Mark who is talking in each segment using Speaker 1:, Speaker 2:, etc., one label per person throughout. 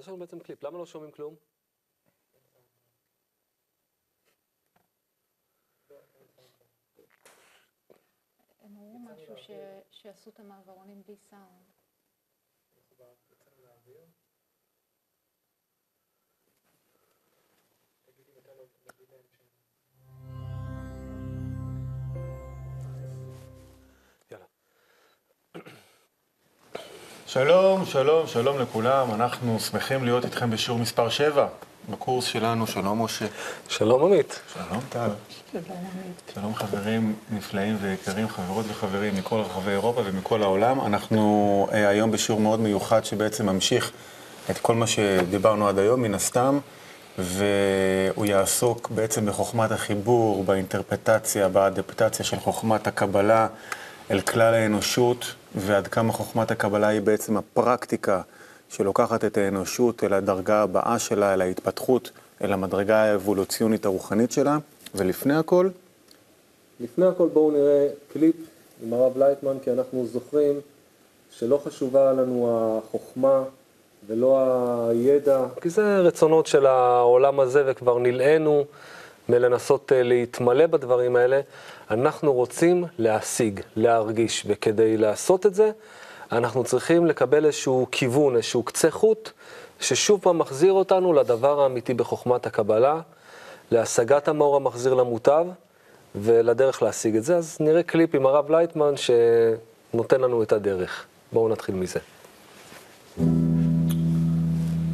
Speaker 1: יש לנו בעצם קליפ, למה לא שומעים כלום?
Speaker 2: הם אמרו משהו שעשו את המעברונים בלי סאונד.
Speaker 3: שלום, שלום, שלום לכולם. אנחנו שמחים להיות איתכם בשיעור מספר 7 בקורס שלנו. שלום משה.
Speaker 1: שלום עמית.
Speaker 3: שלום טל. שלום חברים נפלאים ויקרים, חברות וחברים מכל רחבי אירופה ומכל העולם. אנחנו היום בשיעור מאוד מיוחד שבעצם ממשיך את כל מה שדיברנו עד היום מן הסתם, והוא יעסוק בעצם בחוכמת החיבור, באינטרפטציה, באדפטציה של חוכמת הקבלה אל כלל האנושות, ועד כמה חוכמת הקבלה היא בעצם הפרקטיקה שלוקחת את האנושות אל הדרגה הבאה שלה, אל ההתפתחות, אל המדרגה האבולוציונית הרוחנית שלה. ולפני הכל?
Speaker 1: לפני הכל בואו נראה קליפ עם הרב לייטמן, כי אנחנו זוכרים שלא חשובה לנו החוכמה ולא הידע, כי זה רצונות של העולם הזה וכבר נלאינו מלנסות להתמלא בדברים האלה. אנחנו רוצים להשיג, להרגיש, וכדי לעשות את זה, אנחנו צריכים לקבל איזשהו כיוון, איזשהו קצה חוט, ששוב פעם מחזיר אותנו לדבר האמיתי בחוכמת הקבלה, להשגת המאור המחזיר למוטב, ולדרך להשיג את זה. אז נראה קליפ עם הרב לייטמן שנותן לנו את הדרך. בואו נתחיל מזה.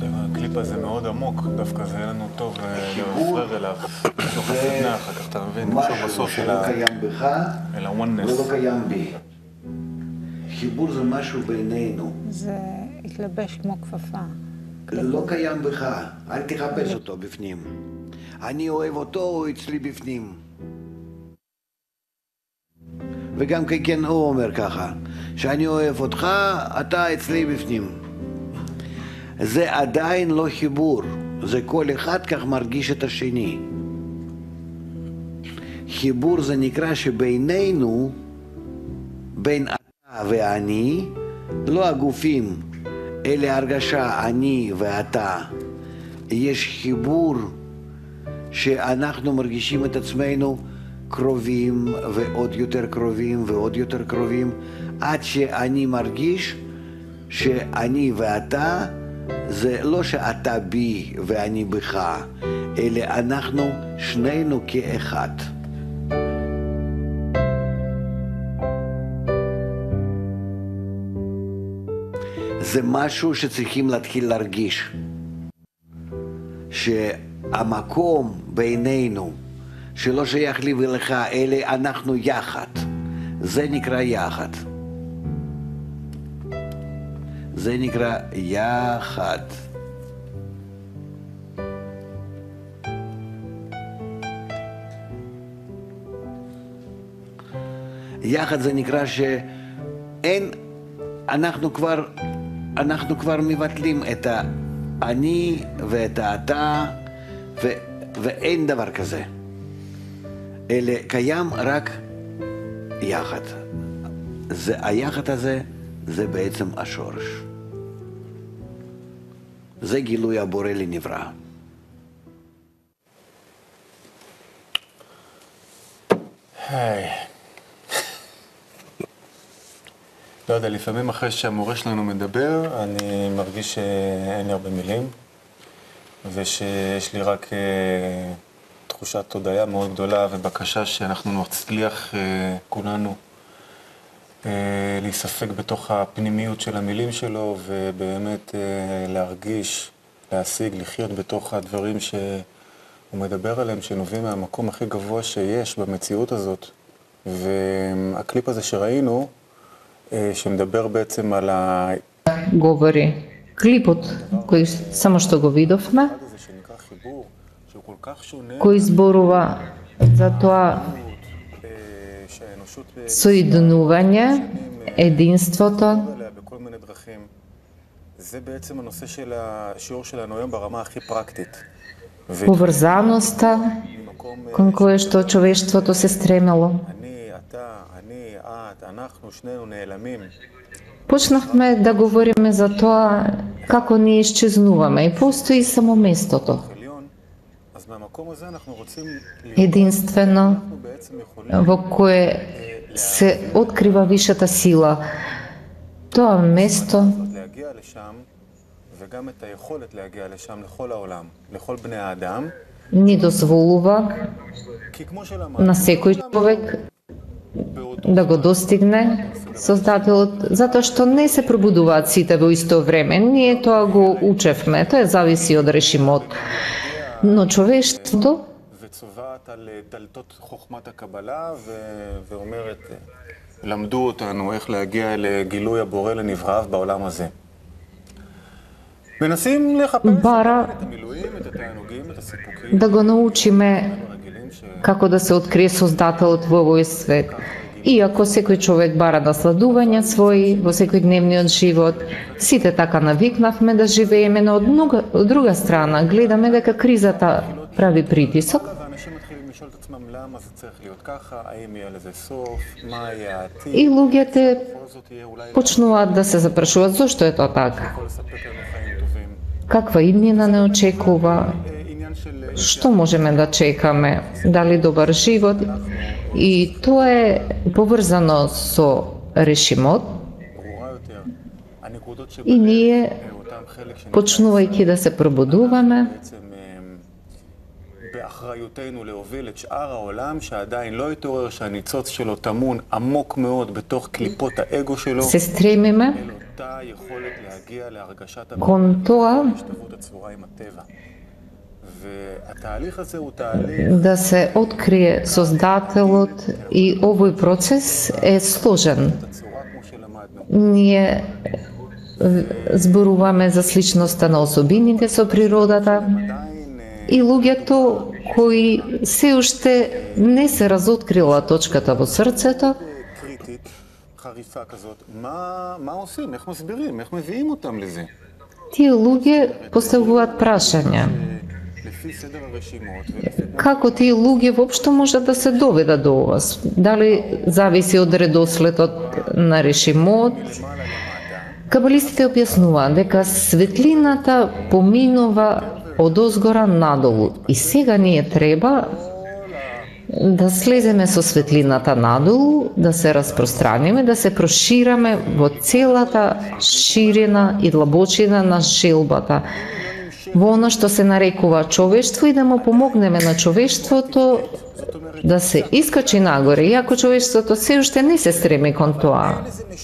Speaker 3: הקליפ הזה מאוד עמוק, דווקא זה היה לנו טוב להפרר אליו. בסוף הסדנה, אחר כך אתה מבין, נמשוך בסוף אל ה-oneness.
Speaker 4: זה לא קיים בי. חיבור זה משהו בינינו.
Speaker 2: זה התלבש כמו כפפה.
Speaker 4: לא קיים בך, אל תחפש אותו בפנים. אני אוהב אותו, הוא אצלי בפנים. וגם כן הוא אומר ככה, שאני אוהב אותך, אתה אצלי בפנים. זה עדיין לא חיבור, זה כל אחד כך מרגיש את השני. חיבור זה נקרא שבינינו, בין אתה ואני, לא הגופים, אלה הרגשה אני ואתה. יש חיבור שאנחנו מרגישים את עצמנו קרובים ועוד יותר קרובים ועוד יותר קרובים, עד שאני מרגיש שאני ואתה, זה לא שאתה בי ואני בך, אלא אנחנו שנינו כאחד. זה משהו שצריכים להתחיל להרגיש, שהמקום בינינו שלא שייך לי ולך, אלא אנחנו יחד, זה נקרא יחד. זה נקרא יחד. יחד זה נקרא שאין, אנחנו כבר מבטלים את האני ואת האתה, ואין דבר כזה. אלא קיים רק יחד. היחד הזה זה בעצם השורש. זה גילוי הבורא לנברא.
Speaker 3: היי. לא יודע, לפעמים אחרי שהמורה שלנו מדבר, אני מרגיש שאין לי הרבה מילים, ושיש לי רק תחושת תודעה מאוד גדולה ובקשה שאנחנו נצליח כולנו להיספק בתוך הפנימיות של המילים שלו, ובאמת להרגיש, להשיג, לחיות בתוך הדברים שהוא מדבר עליהם, שנובעים מהמקום הכי גבוה שיש במציאות הזאת. והקליפ הזה שראינו, שמדבר בעצם על
Speaker 5: говори клипот кој само што го видовме, кој зборува за тоа соединување, единството.
Speaker 3: זה בעצם הנושא של השיעור שלנו היום ברמה הכי פרקטית.
Speaker 5: Поврзаноста кон која што човештвото се стремело. Почнахме да говориме за тоа како ние исчезнуваме и постои само местото.
Speaker 3: אז מהמקום הזה אנחנו רוצים
Speaker 5: Единствено
Speaker 3: אנחנו בעצם יכולים
Speaker 5: во кое се открива вишата сила. Тоа место
Speaker 3: להגיע לשם, וגם את היכולת להגיע לשם לכל העולם, לכל בני האדם,
Speaker 5: ни дозволува
Speaker 3: כי כמו שלמדנו,
Speaker 5: на секој човек да го достигне Создателот, затоа што не се пробудуваат сите во исто време. Ние тоа го учевме, тоа зависи од режимот. Но човештвото
Speaker 3: וצובעת על דלתות חוכמת הקבלה ואומרת, למדו אותנו איך להגיע לגילוי הבורא לנבראיו בעולם הזה. מנסים לחפש
Speaker 5: бара
Speaker 3: את המילואים, את התענוגים, את הסיפוקים,
Speaker 5: да го научиме
Speaker 3: הרגילים
Speaker 5: како да се открие Создателот во овој свет. Иако секој човек бара насладувања своји во секојдневниот живот, сите така навикнавме да живееме, но од друга страна гледаме дека кризата прави притисок
Speaker 3: ואנשים מתחילים לשאול את עצמם למה זה צריך להיות ככה, האם יהיה לזה סוף, מה יהיה העתיד,
Speaker 5: и луѓето
Speaker 3: בכל זאת יהיה אולי
Speaker 5: почнуваат да се запрашуваат зошто е тоа така.
Speaker 3: יכול לספק לנו חיים טובים.
Speaker 5: Каква иднина не очекува,
Speaker 3: עניין של
Speaker 5: што можеме да чекаме, дали добар живот, и тоа е поврзано со режимот
Speaker 3: ברורה יותר. הנקודות
Speaker 5: и
Speaker 3: שבהם
Speaker 5: ние,
Speaker 3: אותם חלק
Speaker 5: почнувајќи да се пробудуваме,
Speaker 3: בעצם באחריותנו להוביל את שאר העולם שעדיין לא התעורר, שהניצוץ שלו טמון עמוק מאוד בתוך קליפות האגו שלו,
Speaker 5: се стремиме
Speaker 3: אל אותה יכולת להגיע להרגשת
Speaker 5: кон тоа
Speaker 3: ההשתוות הצבורה עם הטבע. והתהליך הזה הוא תהליך
Speaker 5: да се открие Создателот и овој процес е сложен.
Speaker 3: הצורה כמו שלמדנו.
Speaker 5: Ние зборуваме за сличноста на особините со природата и луѓето кои се уште не се разоткрила точката во срцето,
Speaker 3: קריטית, חריפה כזאת. מה עושים? איך מסבירים? איך מביאים אותם לזה?
Speaker 5: тие луѓе поставуваат прашања.
Speaker 3: לפי סדר הרשימות ולפי
Speaker 5: Како тие луѓе воопшто можат да се доведат до ова? Дали зависи од редоследот на режимот? Кабалистите објаснуваат дека светлината поминува од озгора надолу и сега ние треба да слеземе со светлината надолу, да се распространиме, да се прошираме во целата ширина и длабочина на желбата, во она што се нарекува човештво и да му помогнеме на човештвото да се искачи нагоре, иако човештвото се уште не се стреми кон тоа.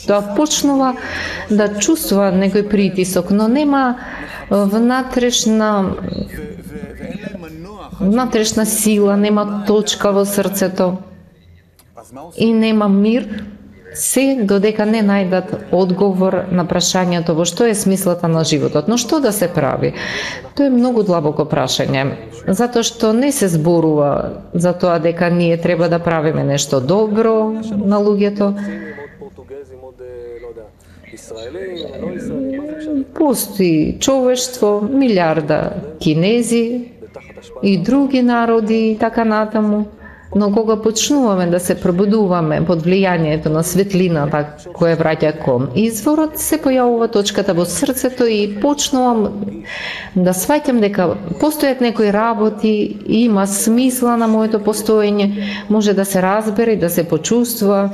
Speaker 5: Тоа почнува да чувствува некој притисок, но нема внатрешна сила, нема точка во срцето и нема мир, се додека не најдат одговор на прашањето во што е смислата на животот. Но што да се прави? Тоа е многу длабоко прашање, затоа што не се зборува за тоа дека ние треба да правиме нешто добро на луѓето. Постои човештво, милиарда кинези и други народи и така натаму. Но кога почнуваме да се пробудуваме под влијанието на светлината која враќа кон изворот, се појавува точката во срцето и почнувам да сваќам дека постојат некои работи, има смисла на моето постоење, може да се разбере и да се почувствува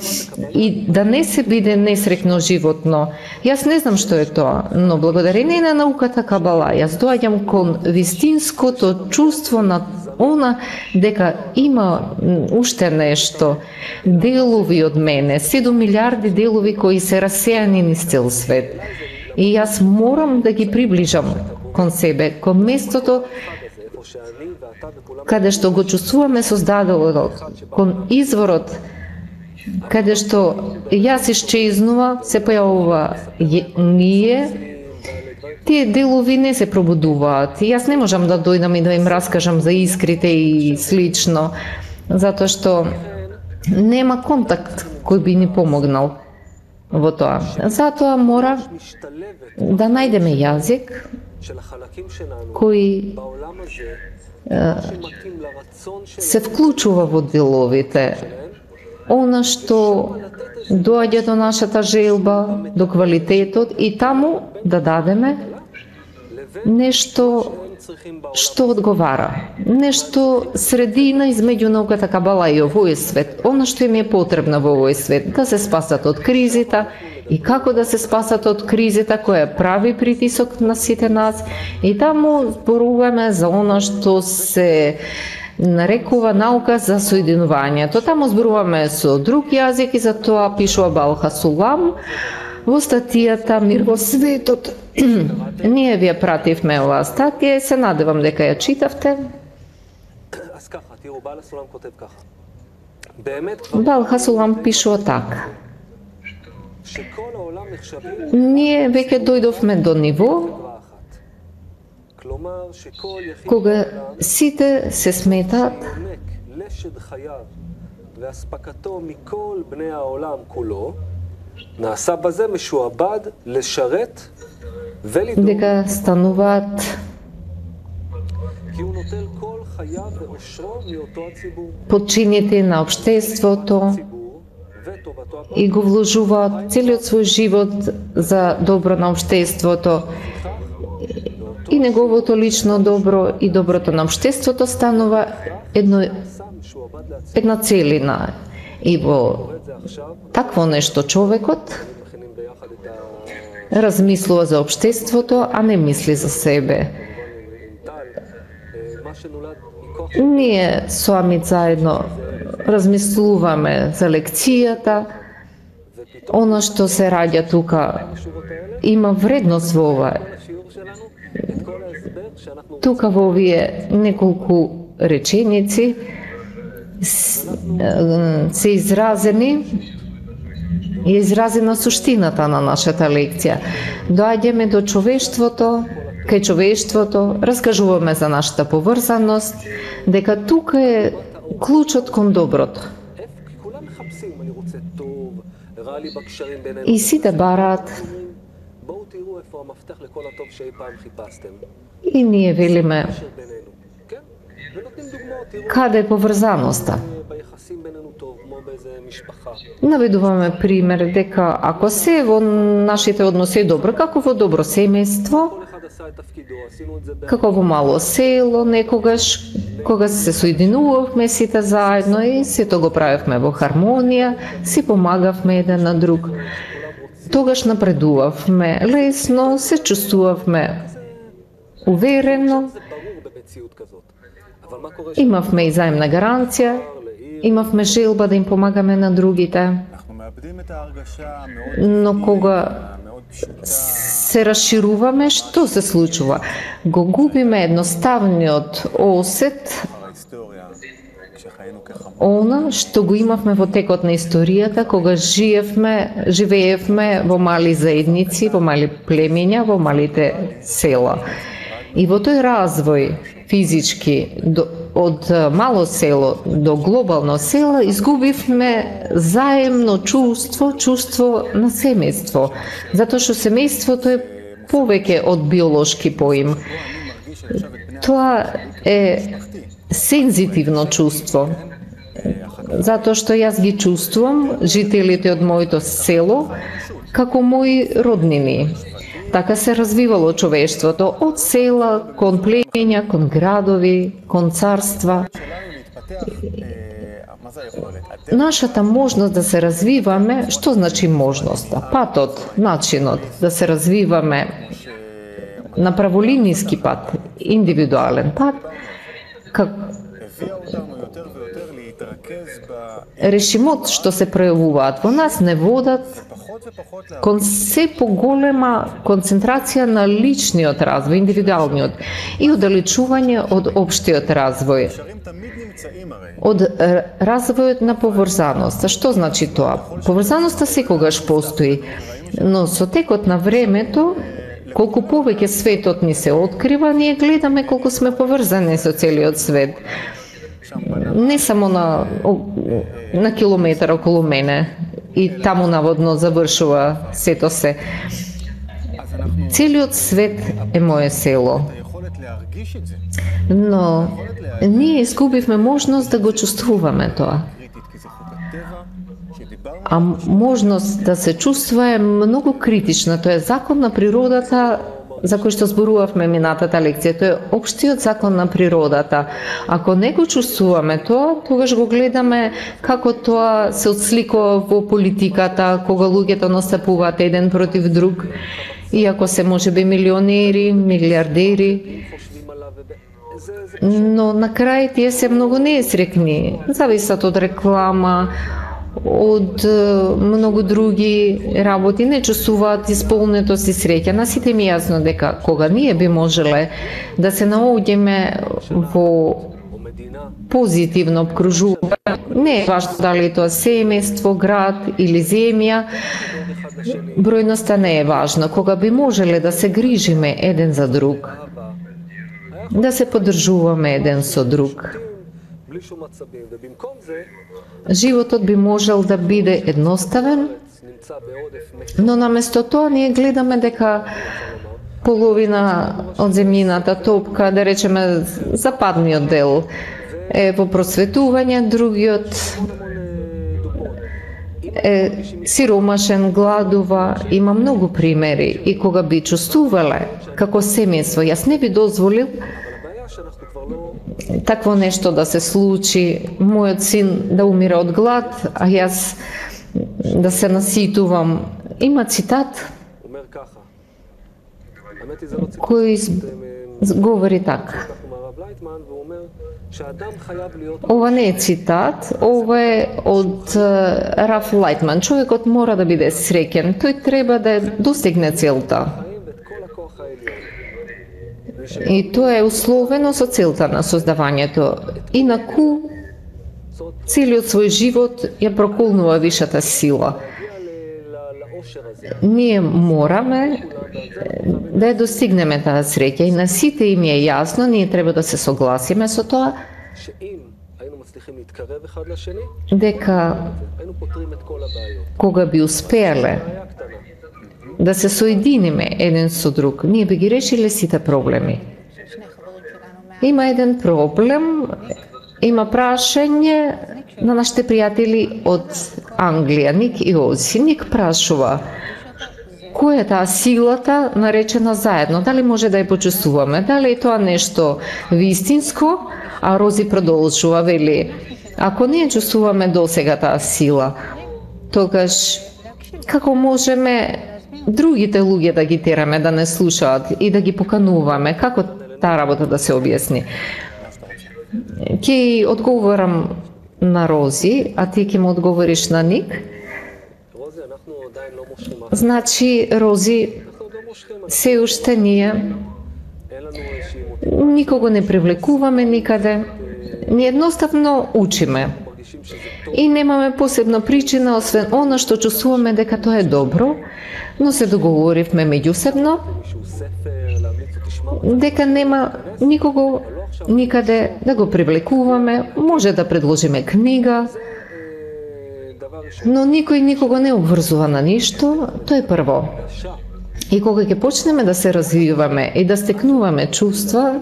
Speaker 5: и да не се биде несреќно животно. Јас не знам што е тоа, но благодарение на науката Кабала, јас доаѓам кон вистинското чувство на она дека има уште нешто, делови од мене, 7 милиарди делови кои се расејани низ цел свет. И јас морам да ги приближам кон себе, кон местото каде што го чувствуваме Создателот, кон изворот, каде што јас исчезнува, се појавува ние. Тие делови не се пробудуваат. Јас не можам да дојдам и да им раскажам за искрите и слично, затоа што нема контакт кој би ни помогнал во тоа. Затоа мора да најдеме јазик кој се вклучува во деловите, она што доаѓа до нашата желба, до квалитетот и таму да дадеме нешто што одговара, нешто средина измеѓу науката кабала и овој свет, она што им е потребно во овој свет, да се спасат од кризата и како да се спасат од кризата која прави притисок на сите нас, и таму зборуваме за она што се нарекува наука за соединувањето. Таму зборуваме со друг јазик и за тоа пишува Бал Хасулам во статијата Мир во светот. Ние ви ја пративме оваа статија и се надевам дека ја читавте.
Speaker 1: אז ככה, תראו, בעל הסולם כותב ככה. באמת
Speaker 5: Бал Хасулам пишува така.
Speaker 1: שכל העולם נחשבים
Speaker 5: Ние веќе дојдовме до ниво
Speaker 1: חברה אחת. כלומר, שכל יחיד
Speaker 5: кога
Speaker 1: בעולם
Speaker 5: сите се сметаат
Speaker 1: יונק לשד חייו ואספקתו מכל בני העולם כולו, נעשה בזה משועבד לשרת ולדאוג,
Speaker 5: дека стануваат
Speaker 1: כי הוא נוטל כל חייו ואושרו מאותו הציבור.
Speaker 5: подчинети на општеството
Speaker 1: הציבור וטובתו
Speaker 5: и го вложуваат целиот свој живот за добро на општеството, и неговото лично добро и доброто на општеството станува една целина. И во такво нешто човекот
Speaker 1: מכינים ביחד את
Speaker 5: размислува за општеството, а не мисли за себе.
Speaker 1: עם טל, מה שנולד מכוח
Speaker 5: Ние со Амит заедно размислуваме за лекцијата, она што се раѓа тука
Speaker 1: השורות האלה,
Speaker 5: има вредност во ова.
Speaker 1: השיעור שלנו, את כל ההסבר שאנחנו
Speaker 5: Тука во овие неколку реченици се изразени е изразена суштината на нашата лекција. Доаѓаме до човештвото, кај човештвото, раскажуваме за нашата поврзаност, дека тука е клучот кон доброто.
Speaker 1: כי כולם מחפשים, אני רוצה טוב, רע לי בקשרים בינינו.
Speaker 5: И сите бараат,
Speaker 1: בואו תראו איפה המפתח לכל הטוב שאי פעם חיפשתם.
Speaker 5: и ние велиме,
Speaker 1: קשר בינינו. כן? ונותנים דוגמאות, תראו
Speaker 5: каде е поврзаноста.
Speaker 1: ביחסים בינינו טוב, כמו באיזה משפחה.
Speaker 5: Наведуваме пример дека ако се во нашите односи е добро, како во добро семејство,
Speaker 1: כל אחד עשה את תפקידו, עשינו את זה
Speaker 5: како во мало село некогаш, кога се соединувавме сите заедно и сето го правевме во хармонија, си помагавме еден на друг. Тогаш напредувавме лесно, се чувствувавме уверено,
Speaker 1: זה ברור במציאות כזאת. אבל מה קורה
Speaker 5: имавме и заемна гаранција, имавме желба да им помагаме на другите.
Speaker 3: אנחנו מאבדים את ההרגשה המאוד
Speaker 5: Но кога
Speaker 3: מאוד פשוטה,
Speaker 5: се расшируваме, што се случува? Го губиме едноставниот осет,
Speaker 3: ההיסטוריה, כשחיינו כחמור.
Speaker 5: она што го имавме во текот на историјата, кога живеевме во мали заедници, во мали племиња, во малите села. И во тој развој физички од мало село до глобално село изгубивме заемно чувство на семејство, затоа што семејството е повеќе од биолошки поим. Тоа е сензитивно чувство, затоа што јас ги чувствувам жителите од моето село како мои роднини. Така се развивало човештвото од села кон племиња, кон градови, кон царства.
Speaker 3: מה זה היכולת?
Speaker 5: Нашата можност да се развиваме, што значи можноста? Патот, начинот да се развиваме на праволиниски пат, индивидуален пат,
Speaker 3: הביאה אותנו יותר ויותר להתרכז
Speaker 5: решимот што се пројавуваат во нас не водат
Speaker 3: בפחות ופחות
Speaker 5: кон се поголема концентрација на личниот развој, индивидуалниот и оддалечување од општиот развој,
Speaker 3: הקשרים תמיד נמצאים הרי.
Speaker 5: од развојот на поврзаноста. Што значи тоа? Поврзаноста секогаш постои, но со текот на времето, колку повеќе светот ни се открива, ние гледаме колку сме поврзани со целиот свет. Не само на километар околу мене и таму наводно завршува сето се. Целиот свет е мое село.
Speaker 3: היכולת להרגיש את זה,
Speaker 5: Но ние изгубивме можност да го чувствуваме тоа.
Speaker 3: קריטית, כי זה חוק הטבע, שדיברנו
Speaker 5: А можност да се чувства е многу критична. Тоа е закон на природата за кој што зборувавме минатата лекција, тоа е општиот закон на природата. Ако не го чувствуваме тоа, тогаш го гледаме како тоа се отсликува во политиката, кога луѓето настапуваат еден против друг, иако се можеби милионери, милиардери, но на крај тие се многу неесрекни, зависат од реклама, од многу други работи, не чувствуваат исполнетост и среќа. На сите ми јасно дека кога ние би можеле да се наоѓеме во позитивно обкружување, не е важно дали е тоа семејство, град или земја, бројноста не е важна. Кога би можеле да се грижиме еден за друг, да се поддржуваме еден со друг, животот би можел да биде едноставен, но наместо тоа ние гледаме дека половина од земјината топка, да речеме западниот дел, е во просветување, другиот е сиромашен, гладува, има многу примери и кога би чувствувале како семејство, јас не би дозволил такво нешто да се случи, мојот син да умира од глад, а јас да се наситувам. Има цитат кој говори така. Ова не е цитат, ова е од Раф Лайтман. Човекот мора да биде среќен, тој треба да достигне целта. И тоа е условено со целта на создавањето. Инаку, целиот свој живот ја проколнува вишата сила. Ние мораме да ја достигнеме таа среќа и на сите им е јасно, ние треба да се согласиме со тоа, дека кога би успеале да се соединиме еден со друг, ние би ги решиле сите проблеми. Има еден проблем, има прашање на нашите пријатели од Англија, Ник и Ози. Ник прашува, која е таа силата наречена заедно? Дали може да ја почувствуваме? Дали е тоа нешто вистинско? А Рози продолжува, вели, ако не чувствуваме досега таа сила, тогаш како можеме другите луѓе да ги тераме да не слушаат и да ги покануваме? Како таа работа да се објасни? Ќе одговорам на Рози, а ти ќе му одговориш на Ник. Значи, Рози, се уште ние никого не привлекуваме никаде. Ние едноставно учиме. И немаме посебна причина, освен она што чувствуваме дека тоа е добро, но се договоривме меѓусебно дека нема никого никаде да го привлекуваме, може да предложиме книга, но никој никого не обврзува на ништо, тоа е прво. И кога ќе почнеме да се развиваме и да стекнуваме чувства,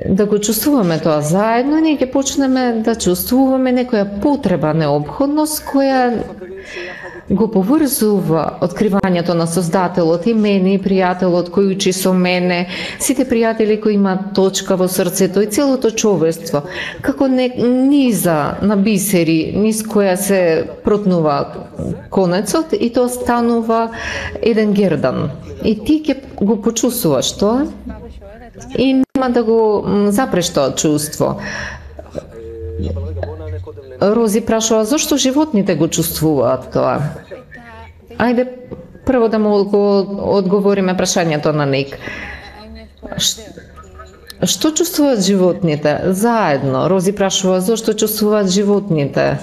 Speaker 5: да го чувствуваме тоа заедно, ние ќе почнеме да чувствуваме некоја потреба, необходност, која го поврзува откривањето на Создателот и мене, и пријателот кој учи со мене, сите пријатели кои имаат точка во срцето и целото човештво, како низа на бисери, низ која се протнува конецот и тоа станува еден гердан. И ти ќе го почувствуваш тоа и нема да го запреш тоа чувство. Рози прашува зошто животните го чувствуваат тоа. Ајде прво да му одговориме прашањето на Ник. Што чувствуваат животните заедно? Рози прашува зошто чувствуваат животните.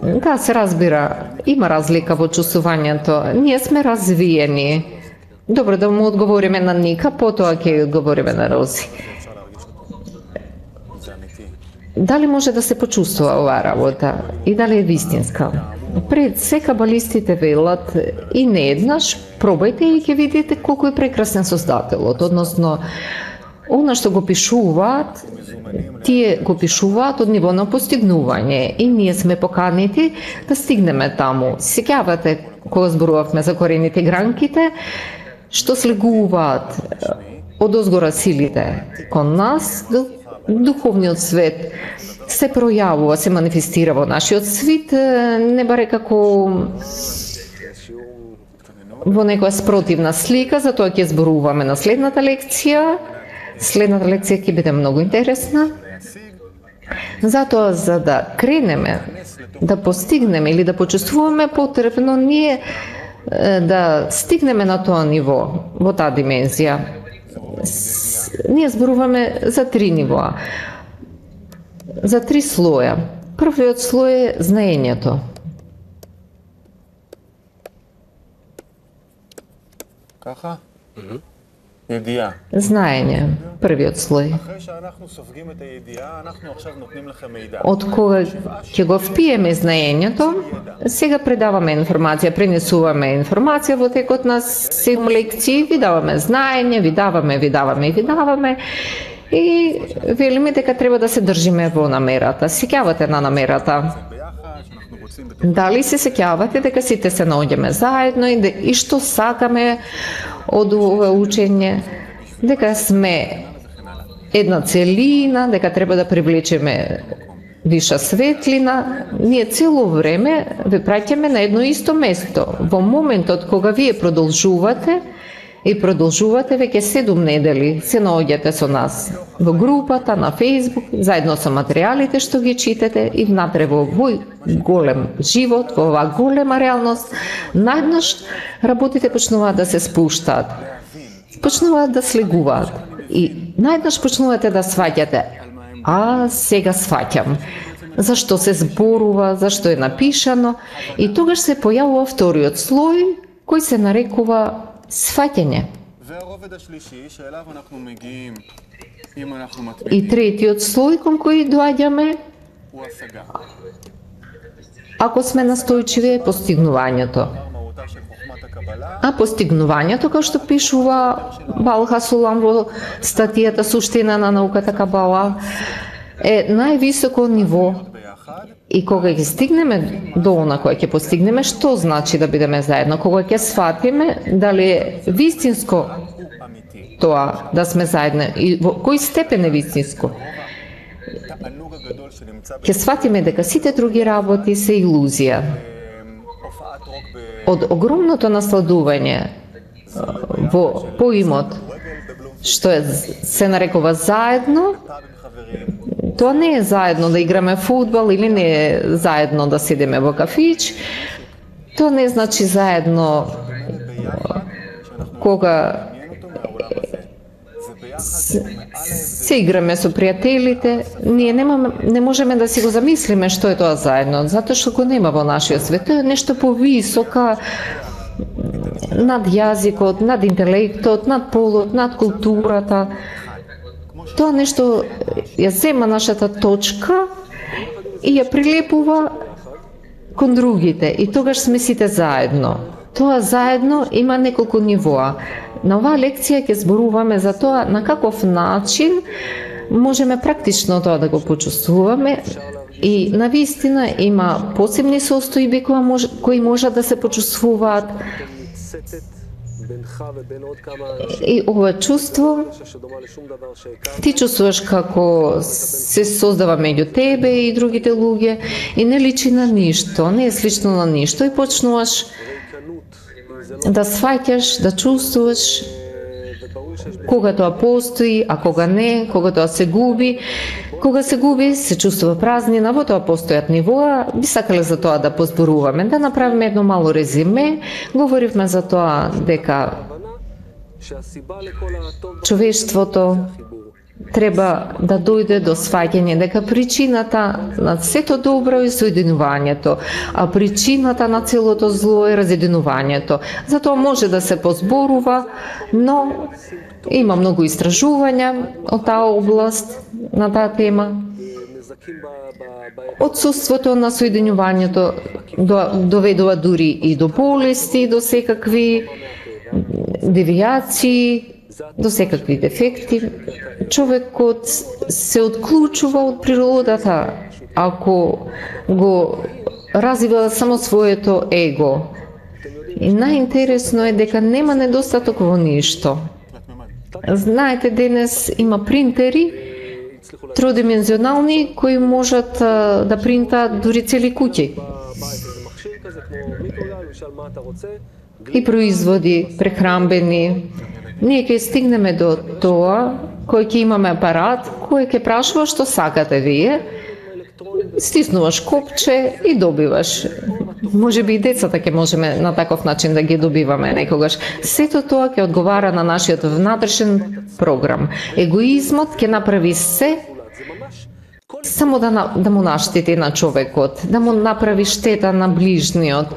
Speaker 5: Да, се разбира, има разлика во чувствувањето. Ние сме развиени. Добро, да му одговориме на Ника, потоа ќе одговориме на Рози. Дали може да се почувствува оваа работа и дали е вистинска? Пред се кабалистите велат и не еднаш, пробајте и ќе видите колку е прекрасен Создателот, односно она што го пишуваат, тие го пишуваат од ниво на постигнување и ние сме поканети да стигнеме таму. Сеќавате кога зборувавме за корените и гранките, што слегуваат од озгора силите кон нас, духовниот свет се пројавува, се манифестира во нашиот свет, не баре како во некоја спротивна слика, затоа ќе зборуваме на следната лекција. Следната лекција ќе биде многу интересна. Затоа, за да кренеме, да постигнеме или да почувствуваме, потребно ние да стигнеме на тоа ниво, во таа димензија. Ние зборуваме за 3 нивоа, за 3 слоја. Првиот слој е знаењето.
Speaker 3: ככה? ידיעה.
Speaker 5: Знаење, првиот слој.
Speaker 3: אחרי שאנחנו סופגים את הידיעה, אנחנו עכשיו נותנים לכם מידע.
Speaker 5: Од кога ќе го впиеме знаењето, сега предаваме информација, пренесуваме информација во текот на 7 лекции, ви даваме знаење, ви даваме и велиме дека треба да се држиме во намерата. Сеќавате на намерата. Дали се сеќавате дека сите се наоѓаме заедно и што сакаме од ова учење, дека сме една целина, дека треба да привлечеме виша светлина, ние цело време ве праќаме на едно исто место. Во моментот кога вие продолжувате, веќе 7 недели се наоѓате со нас во групата, на Facebook, заедно со материјалите што ги читате и внатре во овој голем живот, во оваа голема реалност, најднаш работите почнуваат да се спуштаат, почнуваат да слегуваат и најднаш почнувате да сваќате. Сега сваќам. Зашто се зборува, зашто е напишано и тогаш се појавува вториот слој кој се нарекува сваќање. И третиот слој кон кој доаѓаме, ако сме настојчиви, е постигнувањето. А постигнувањето, како што пишува Баал Хасулам во статијата Суштина на науката Кабала, е највисоко ниво. И кога ќе стигнеме до она која ќе постигнеме, што значи да бидеме заедно? Кога ќе сватиме дали е вистинско тоа да сме заедно и во кој степен е вистинско? Ќе сватиме дека сите други работи се илузија. Од огромното насладување во поимот што се нарекува заедно, тоа не е заедно да играме фудбал или не е заедно да седеме во кафич. Тоа не значи заедно кога се играме со пријателите. Ние не можеме да си го замислиме што е тоа заедно, затоа што го нема во нашиот свет. Тоа е нешто повисока над јазикот, над интелектот, над полот, над културата. Тоа нешто ја зема нашата точка и ја прилепува кон другите и тогаш сме сите заедно. Тоа заедно има неколку нивоа. На оваа лекција ќе зборуваме за тоа на каков начин можеме практично тоа да го почувствуваме и навистина има посебни состојби кои можат да се почувствуваат. И ова чувство ти чувствуваш како се создава меѓу тебе и другите луѓе и не личи на ништо, не е слично на ништо и почнуваш да сваќаш, да чувствуваш кога тоа постои, а кога не, кога тоа се губи. Кога се губи, се чувствува празнина, во тоа постојат нивоа. Би сакале за тоа да позборуваме, да направиме едно мало резиме. Говоривме за тоа дека човештвото треба да дојде до сваќање дека причината на сето добро е соединувањето, а причината на целото зло е разединувањето. Затоа може да се позборува, но има многу истражувања од таа област, на таа тема. Отсуството на соединувањето доведува дури и до болести, до секакви девијации, до секакви дефекти. Човекот се отклучува од природата ако го развива само своето его. И најинтересно е дека нема недостаток во ништо. Знаете, денес има принтери тродимензионални кои можат да принтаат дури цели куќи. И производи прехрамбени. Ние ќе стигнеме до тоа кој ќе имаме апарат кој ќе прашува што сакате вие. Стиснуваш копче и добиваш. Може би и децата ќе можеме на таков начин да ги добиваме некогаш. Сето тоа ќе одговара на нашиот внатрешен програм. Егоизмот ќе направи се само да му наштети на човекот, да му направи штета на ближниот.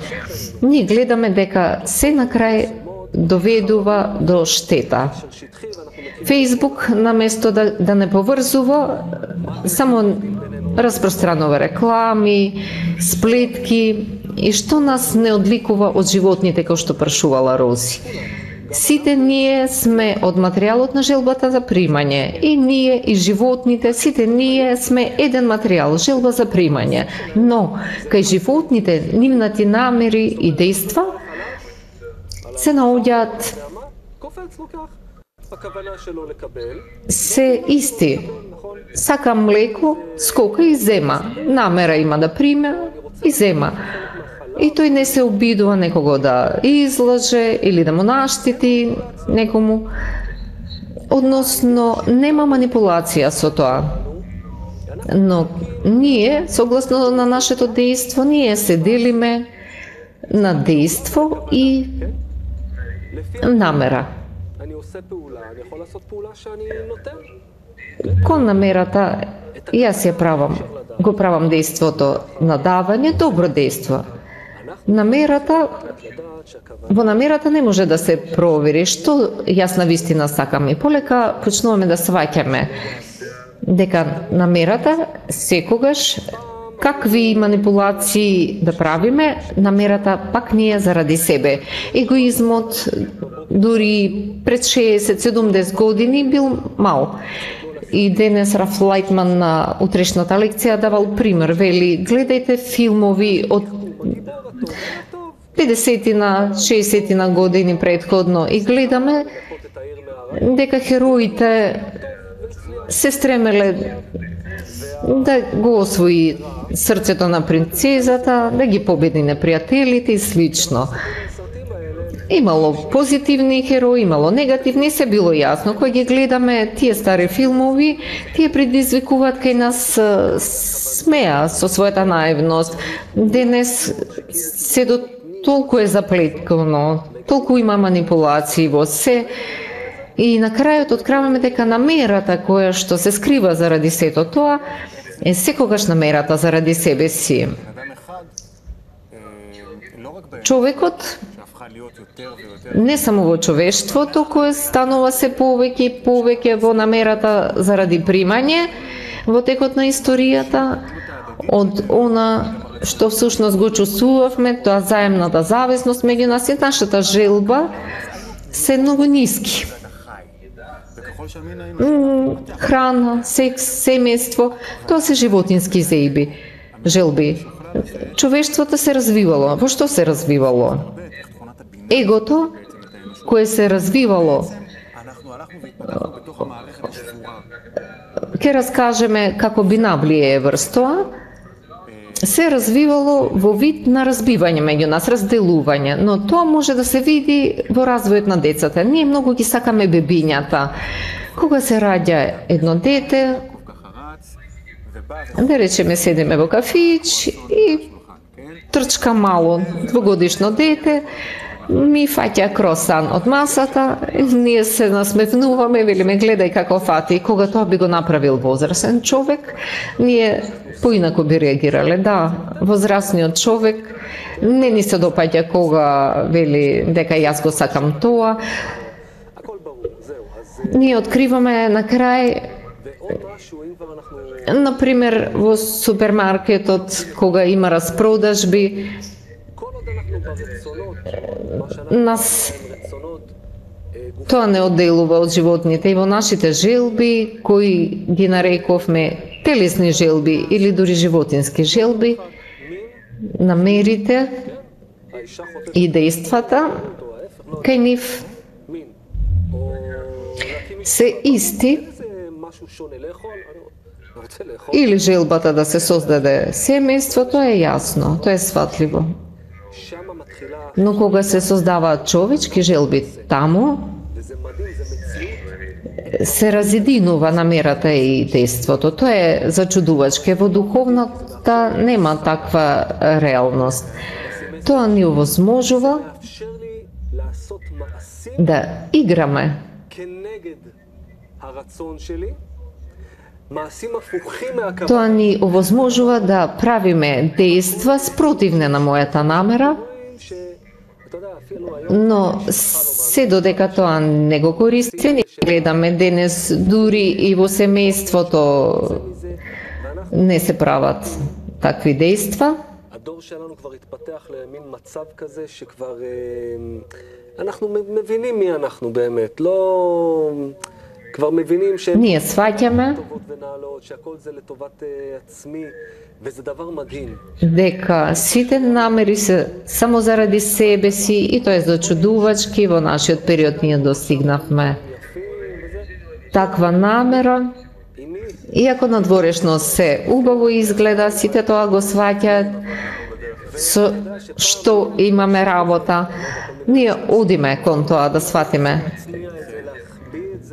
Speaker 5: Ние гледаме дека се на крај доведува до штета. Фејсбук, наместо да не поврзува, само распространува реклами, сплетки и што нас не одликува од животните кои што прашувала Рози. Сите ние сме од материјалот на желбата за примање. И ние, и животните, сите ние сме еден материјал, желба за примање. Но, кај животните, нивните намери и дејства се наоѓаат се исти. Сака млеко, скока и зема. Намера има да приме и зема. И тој не се обидува некого да излаже или да му наштети некому. Односно, нема манипулација со тоа. Но ние, согласно на нашето дејство, ние се делиме на дејство и намера. Кон намерата, јас ја правам, го правам дејството на давање, добро дејство. Намерата, во намерата не може да се провери што јас на вистина сакам и полека почнуваме да сваќаме дека намерата секогаш какви манипулации да правиме, намерата пак не е заради себе. Егоизмот дури пред 60-70 години бил мал. И денес Раф Лајтман на утрешната лекција давал пример, вели, гледајте филмови од 50-на, 60-на години предходно и гледаме дека хероите се стремеле да го освои срцето на принцезата, да ги победи непријателите и слично. Имало позитивни херои, имало негативни, се било јасно. Кога ги гледаме тие стари филмови, тие предизвикуваат кај нас смеа со својата наивност. Денес се до толку е заплеткано, толку има манипулации во се. И на крајот откриваме дека намерата која што се скрива заради сето тоа е секогаш намерата заради себе си. Човекот не само во човештвото кој станува се повеќе и повеќе во намерата заради примање во текот на историјата од она што всушност го чувствувавме, тоа заемната зависност меѓу нас и нашата желба се многу ниски. Храна, секс, семејство, тоа се животински желби. Човештвото се развивало. Во што се развивало? Егото, кое се развивало, ќе раскажеме како бинаблие врз тоа, се развивало во вид на разбивање меѓу нас, разделување, но тоа може да се види во развојот на децата. Ние многу ги сакаме бебињата. Кога се раѓа едно дете, да речеме седиме во кафич и трчка мало двогодишно дете, ми фаќа кросан од масата, ние се насмевнуваме, велиме гледај како фати. Кога тоа би го направил возрасен човек, ние поинако би реагирале. Да, возрастниот човек не ни се допаѓа кога вели дека јас го сакам тоа. Ние откриваме на крај, например, во супермаркетот, кога има распродажби, нас тоа не одделува од животните и во нашите желби, кои ги нарековме телесни желби или дури животински желби, намерите
Speaker 1: האישה חוטפת
Speaker 5: и действата
Speaker 1: או ההפך, לא
Speaker 5: кај нив
Speaker 1: מין. או להקים משפחה.
Speaker 5: се исти,
Speaker 1: איזה משהו שונה לאכול, אני רוצה לאכול.
Speaker 5: или желбата да се создаде семејство, тоа е јасно, тоа е сватливо.
Speaker 1: שמה מתחילה,
Speaker 5: Но кога се создаваат човечки желби таму,
Speaker 1: וזה מדהים, זה מציאות.
Speaker 5: се разединува намерата и действото. Тоа е зачудувачке. Во духовната нема таква реалност. Тоа ни овозможува
Speaker 1: מאפשר לי לעשות מעשים
Speaker 5: да играме.
Speaker 1: כנגד הרצון שלי, מעשים הפוכים מהכוונה.
Speaker 5: Тоа ни овозможува да правиме дејства спротивне на мојата намера,
Speaker 1: אתה יודע, אפילו היום,
Speaker 5: но се додека тоа не го користи, ни гледаме денес дури и во семејството не се прават такви дејства.
Speaker 1: הדור שלנו כבר התפתח למין מצב כזה שכבר אנחנו מבינים מי אנחנו באמת, לא... כבר מבינים שהן
Speaker 5: Ние сваќаме
Speaker 1: טובות ונעלות, שהכל זה לטובת עצמי, וזה דבר מדהים.
Speaker 5: дека сите намери се само заради себе си и тоа е зачудувачки. Во нашиот период ние достигнавме таква намера.
Speaker 1: И ми,
Speaker 5: Иако надворешно се убаво изгледа, сите тоа го сваќаат со што имаме работа. Ние одиме кон тоа да сватиме.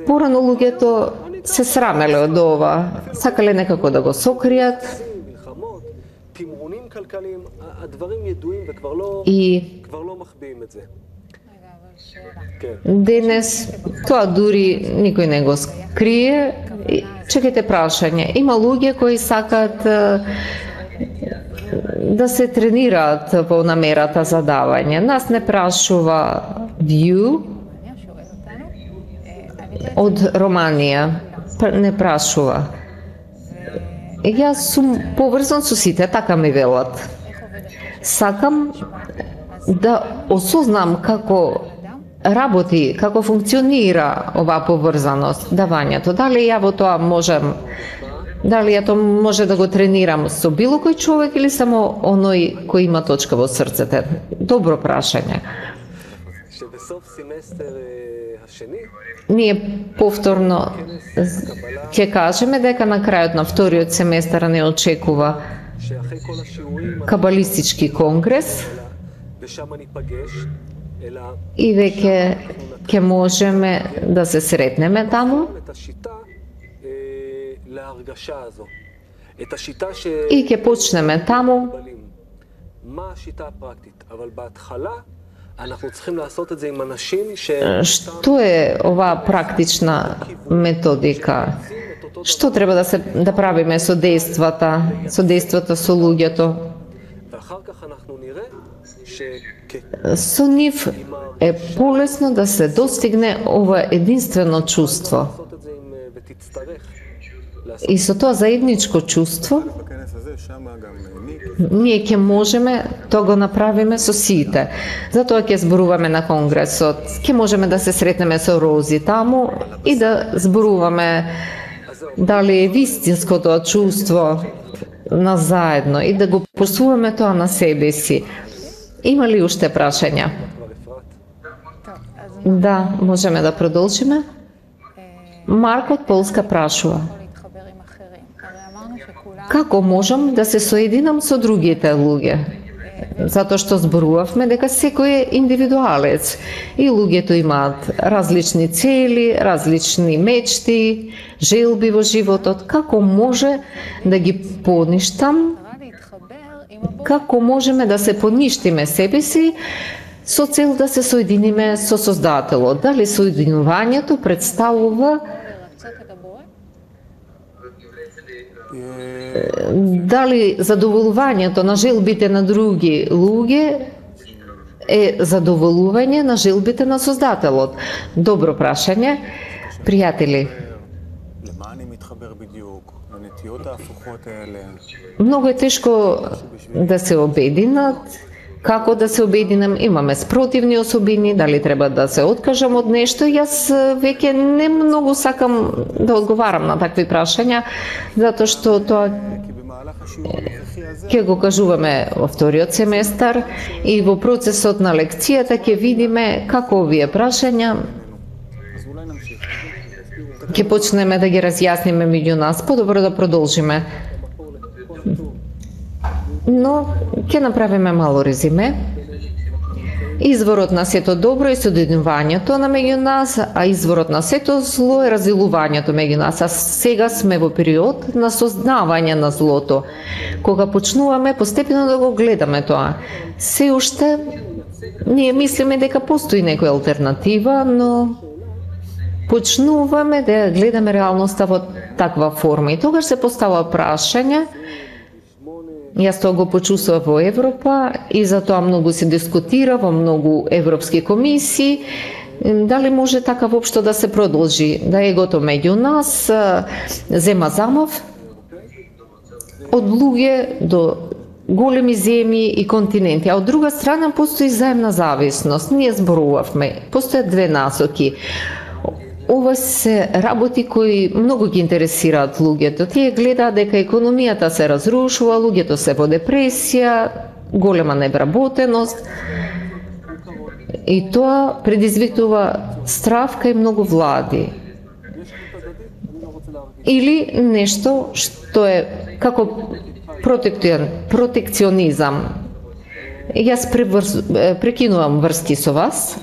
Speaker 5: Порано луѓето се срамеле од ова, сакале некако да го сокријат
Speaker 1: מלחמות, תמרונים כלכליים, הדברים ידועים וכבר לא,
Speaker 5: и
Speaker 1: כבר לא מחביאים את זה.
Speaker 2: רגע, אבל שאלה.
Speaker 1: כן.
Speaker 5: денес тоа дури никој не го скрие. И, чекайте прашање, има луѓе кои сакаат да се тренираат во намерата за давање. Нас не прашува View
Speaker 2: מעניין, שואל אותנו. אני
Speaker 5: од Романија, не прашува. Јас сум поврзан со сите, така ми велат.
Speaker 2: איך עובדת?
Speaker 5: Сакам да осознам како работи, како функционира оваа поврзаност, давањето. Дали ја во тоа можам, дали ја тоа може да го тренирам со било кој човек или само оној кој има точка во срцете? Добро прашање.
Speaker 1: שבסוף סמסטר השני,
Speaker 5: Ние повторно ќе кажеме дека на крајот на вториот семестар не очекува
Speaker 1: שאחרי כל השיעורים,
Speaker 5: кабалистички конгрес
Speaker 1: ושם ניפגש, אלא
Speaker 5: и веќе ќе можеме да се сретнеме таму
Speaker 1: את השיטה להרגשה הזו. את השיטה
Speaker 5: и ќе почнеме таму.
Speaker 1: מה השיטה הפרקטית? אבל בהתחלה אנחנו צריכים לעשות את זה עם אנשים
Speaker 5: Што е оваа практична методика? Што треба да правиме со дејствата со луѓето?
Speaker 1: ואחר כך אנחנו נראה
Speaker 5: Со нив е полесно да се достигне ова единствено чувство.
Speaker 1: לעשות את זה ותצטרך לעשות
Speaker 5: И со тоа заедничко чувство
Speaker 3: בכנס הזה, שם גם ניק,
Speaker 5: ние ќе можеме тоа го направиме со сите. Затоа ќе зборуваме на конгресот, ќе можеме да се сретнеме со Рози таму и да зборуваме дали е вистинско тоа чувство на заедно и да го посуваме тоа на себе си. Има ли уште прашања?
Speaker 1: כבר אפרת.
Speaker 2: טוב, אז
Speaker 5: Да, можеме да продолжиме. Марко од Полска прашува:
Speaker 2: יכול להתחבר עם אחרים. הרי אמרנו שכולם...
Speaker 5: како можам да се соединам со другите луѓе? Затоа што зборувавме дека секој е индивидуалец и луѓето имаат различни цели, различни мечти, желби во животот. Како може да ги поништам?
Speaker 2: קרה להתחבר עם הבורא
Speaker 5: Како можеме да се поништиме себе си со цел да се соединиме со Создателот? Дали соединувањето представува,
Speaker 2: לרצות את הבורא?
Speaker 5: дали задоволувањето на желбите на други луѓе е задоволување на желбите на Создателот? Добро прашање. Пријатели,
Speaker 3: למה אני מתחבר בדיוק? לנטיות ההפוכות האלה.
Speaker 5: многу е тешко да се обединат. Како да се обединам? Имаме спротивни особини, дали треба да се откажам од нешто? Јас веќе не многу сакам да одговарам на такви прашања, затоа што тоа
Speaker 3: כי במהלך
Speaker 5: ќе го кажуваме во вториот семестар и во процесот на лекцијата ќе видиме како овие прашања ќе почнеме да ги разјасниме меѓу нас. Подобро да продолжиме. Но ќе направиме мало резиме. Изворот на сето добро е соединувањето на меѓу нас, а изворот на сето зло е разделувањето меѓу нас. А сега сме во период на сознавање на злото, кога почнуваме постепено да го гледаме тоа. Се уште ние мислиме дека постои некоја алтернатива, но почнуваме да гледаме реалноста во таква форма. И тогаш се постава прашање. Јас тоа го почувствував во Европа и затоа многу се дискутира во многу европски комисии. Дали може така воопшто да се продолжи? Да егото меѓу нас зема замав од луѓе до големи земји и континенти, а од друга страна постои заемна зависност. Ние зборувавме, постојат две насоки. Ова се работи кои многу ги интересираат луѓето. Тие гледаат дека економијата се разрушува, луѓето се во депресија, голема невработеност. И тоа предизвикува страв кај многу влади. Или нешто што е како протекционизам. Јас прекинувам врски со вас.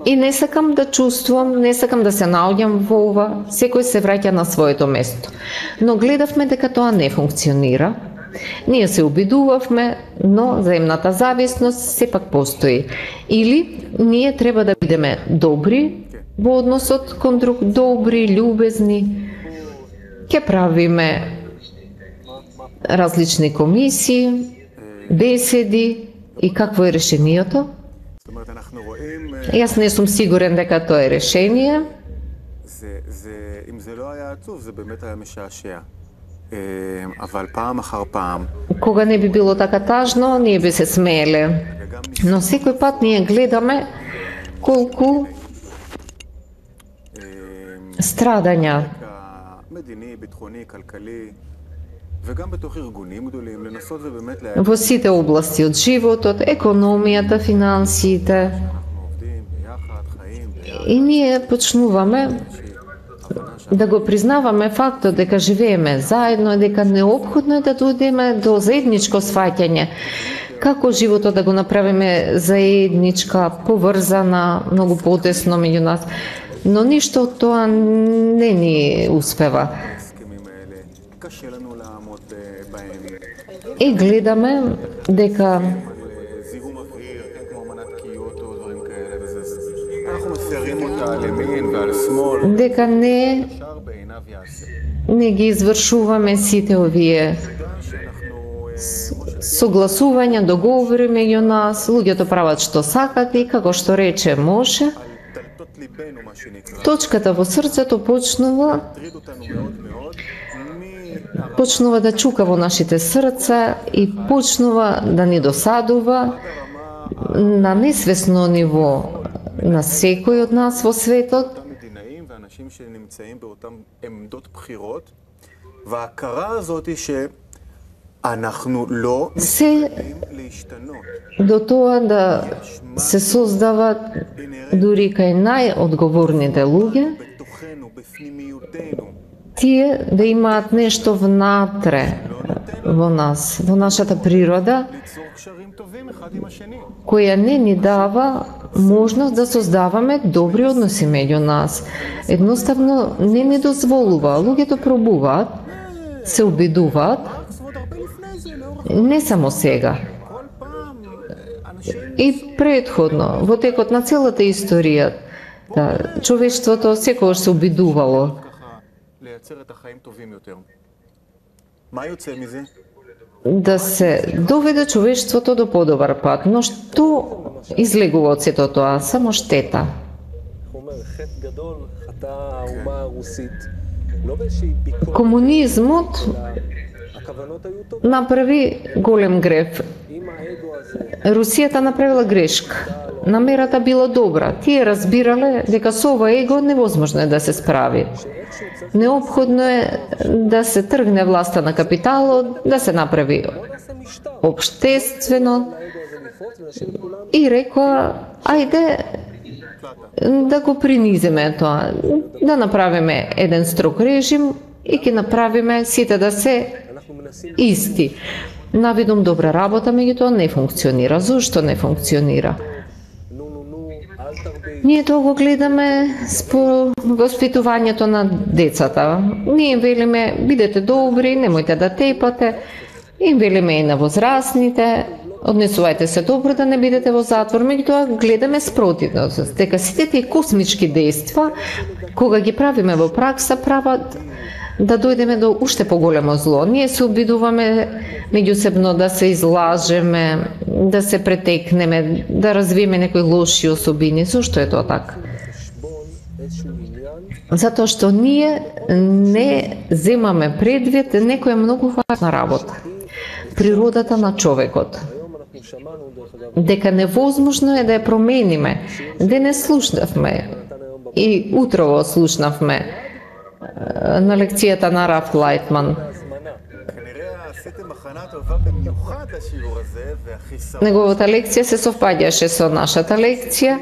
Speaker 5: И не сакам да чувствувам, не сакам да се наоѓам во ова, секој се враќа на своето место. Но гледавме дека тоа не функционира. Ние се обидувавме, но заемната зависност сепак постои. Или ние треба да бидеме добри во односот кон друг, добри, љубезни. Ќе правиме различни комисии, беседи и какво е решението? Јас не сум сигурен дека тоа е решение. Кога не би било така тажно, ние би се смееле. Но секој пат ние гледаме колку страдања во сите области од животот, економијата, финансиите. И ние почнуваме да го признаваме фактот дека живееме заедно и дека неопходно е да дојдеме до заедничко сваќање. Како животот да го направиме заедничка, поврзана, многу потесно меѓу нас. Но ништо од тоа не ни успева. И гледаме дека не ги извршуваме сите овие согласувања, договори меѓу нас, луѓето прават што сакат и како што рече може. Точката во срцето почнува да чука во нашите срца и почнува да ни досадува на несвесно ниво на секој од нас во светот. Се до тоа да се создават дури кај најодговорните луѓе, тие да имаат нешто внатре во нас, во нашата природа, која не ни дава можност да создаваме добри односи меѓу нас. Едноставно не ни дозволува. Луѓето пробуваат, се обидуваат, не само сега. И предходно, во текот на целата историја, човештвото секогаш се обидувало. Да се доведе човештвото до подобар пат. Но што излегува од сето тоа? Само штета. Комунизмот направи голем греф. Русијата направила грешка. Намерата била добра. Тие разбирале дека со ова его невозможно е да се справи. Неопходно е да се тргне власта на капиталот, да се направи обштествено и рекоа, ајде да го принизиме тоа, да направиме еден строг режим и ќе направиме сите да се исти. Навидум добра работа, меѓутоа не функционира. Зошто не функционира? Ние тоа го гледаме спо воспитувањето на децата. Ние велиме, бидете добри, немојте да тепате. Им велиме и на возрастните, однесувајте се добро да не бидете во затвор. Меѓутоа гледаме спротивно, дека сите тие космички дејства, кога ги правиме во пракса, прават да дојдеме до уште поголемо зло. Ние се обидуваме меѓусебно да се излажеме, да се претекнеме, да развиеме некои лоши особини. Зошто е тоа така? Затоа што ние не земаме предвид некоја многу важна работа. Природата на човекот. Дека невозможно е да ја промениме. Денес слушнавме и утрово слушнавме на лекцијата на Раф Лайтман. Неговата лекција се совпаѓаше со нашата лекција.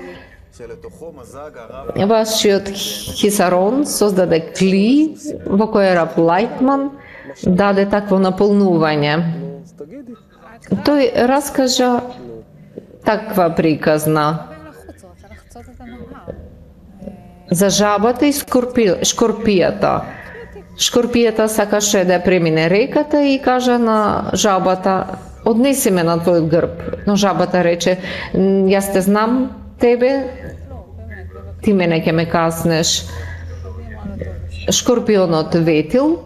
Speaker 5: Вашиот хисарон создаде кли во кој Раф Лайтман даде такво наполнување. Тој раскажа таква приказна за жабата и шкорпијата. Шкорпијата сакаше да премине реката и кажа на жабата, однеси ме на твојот грб. Но жабата рече, јас те знам тебе, ти мене ќе ме каснеш. Шкорпионот ветил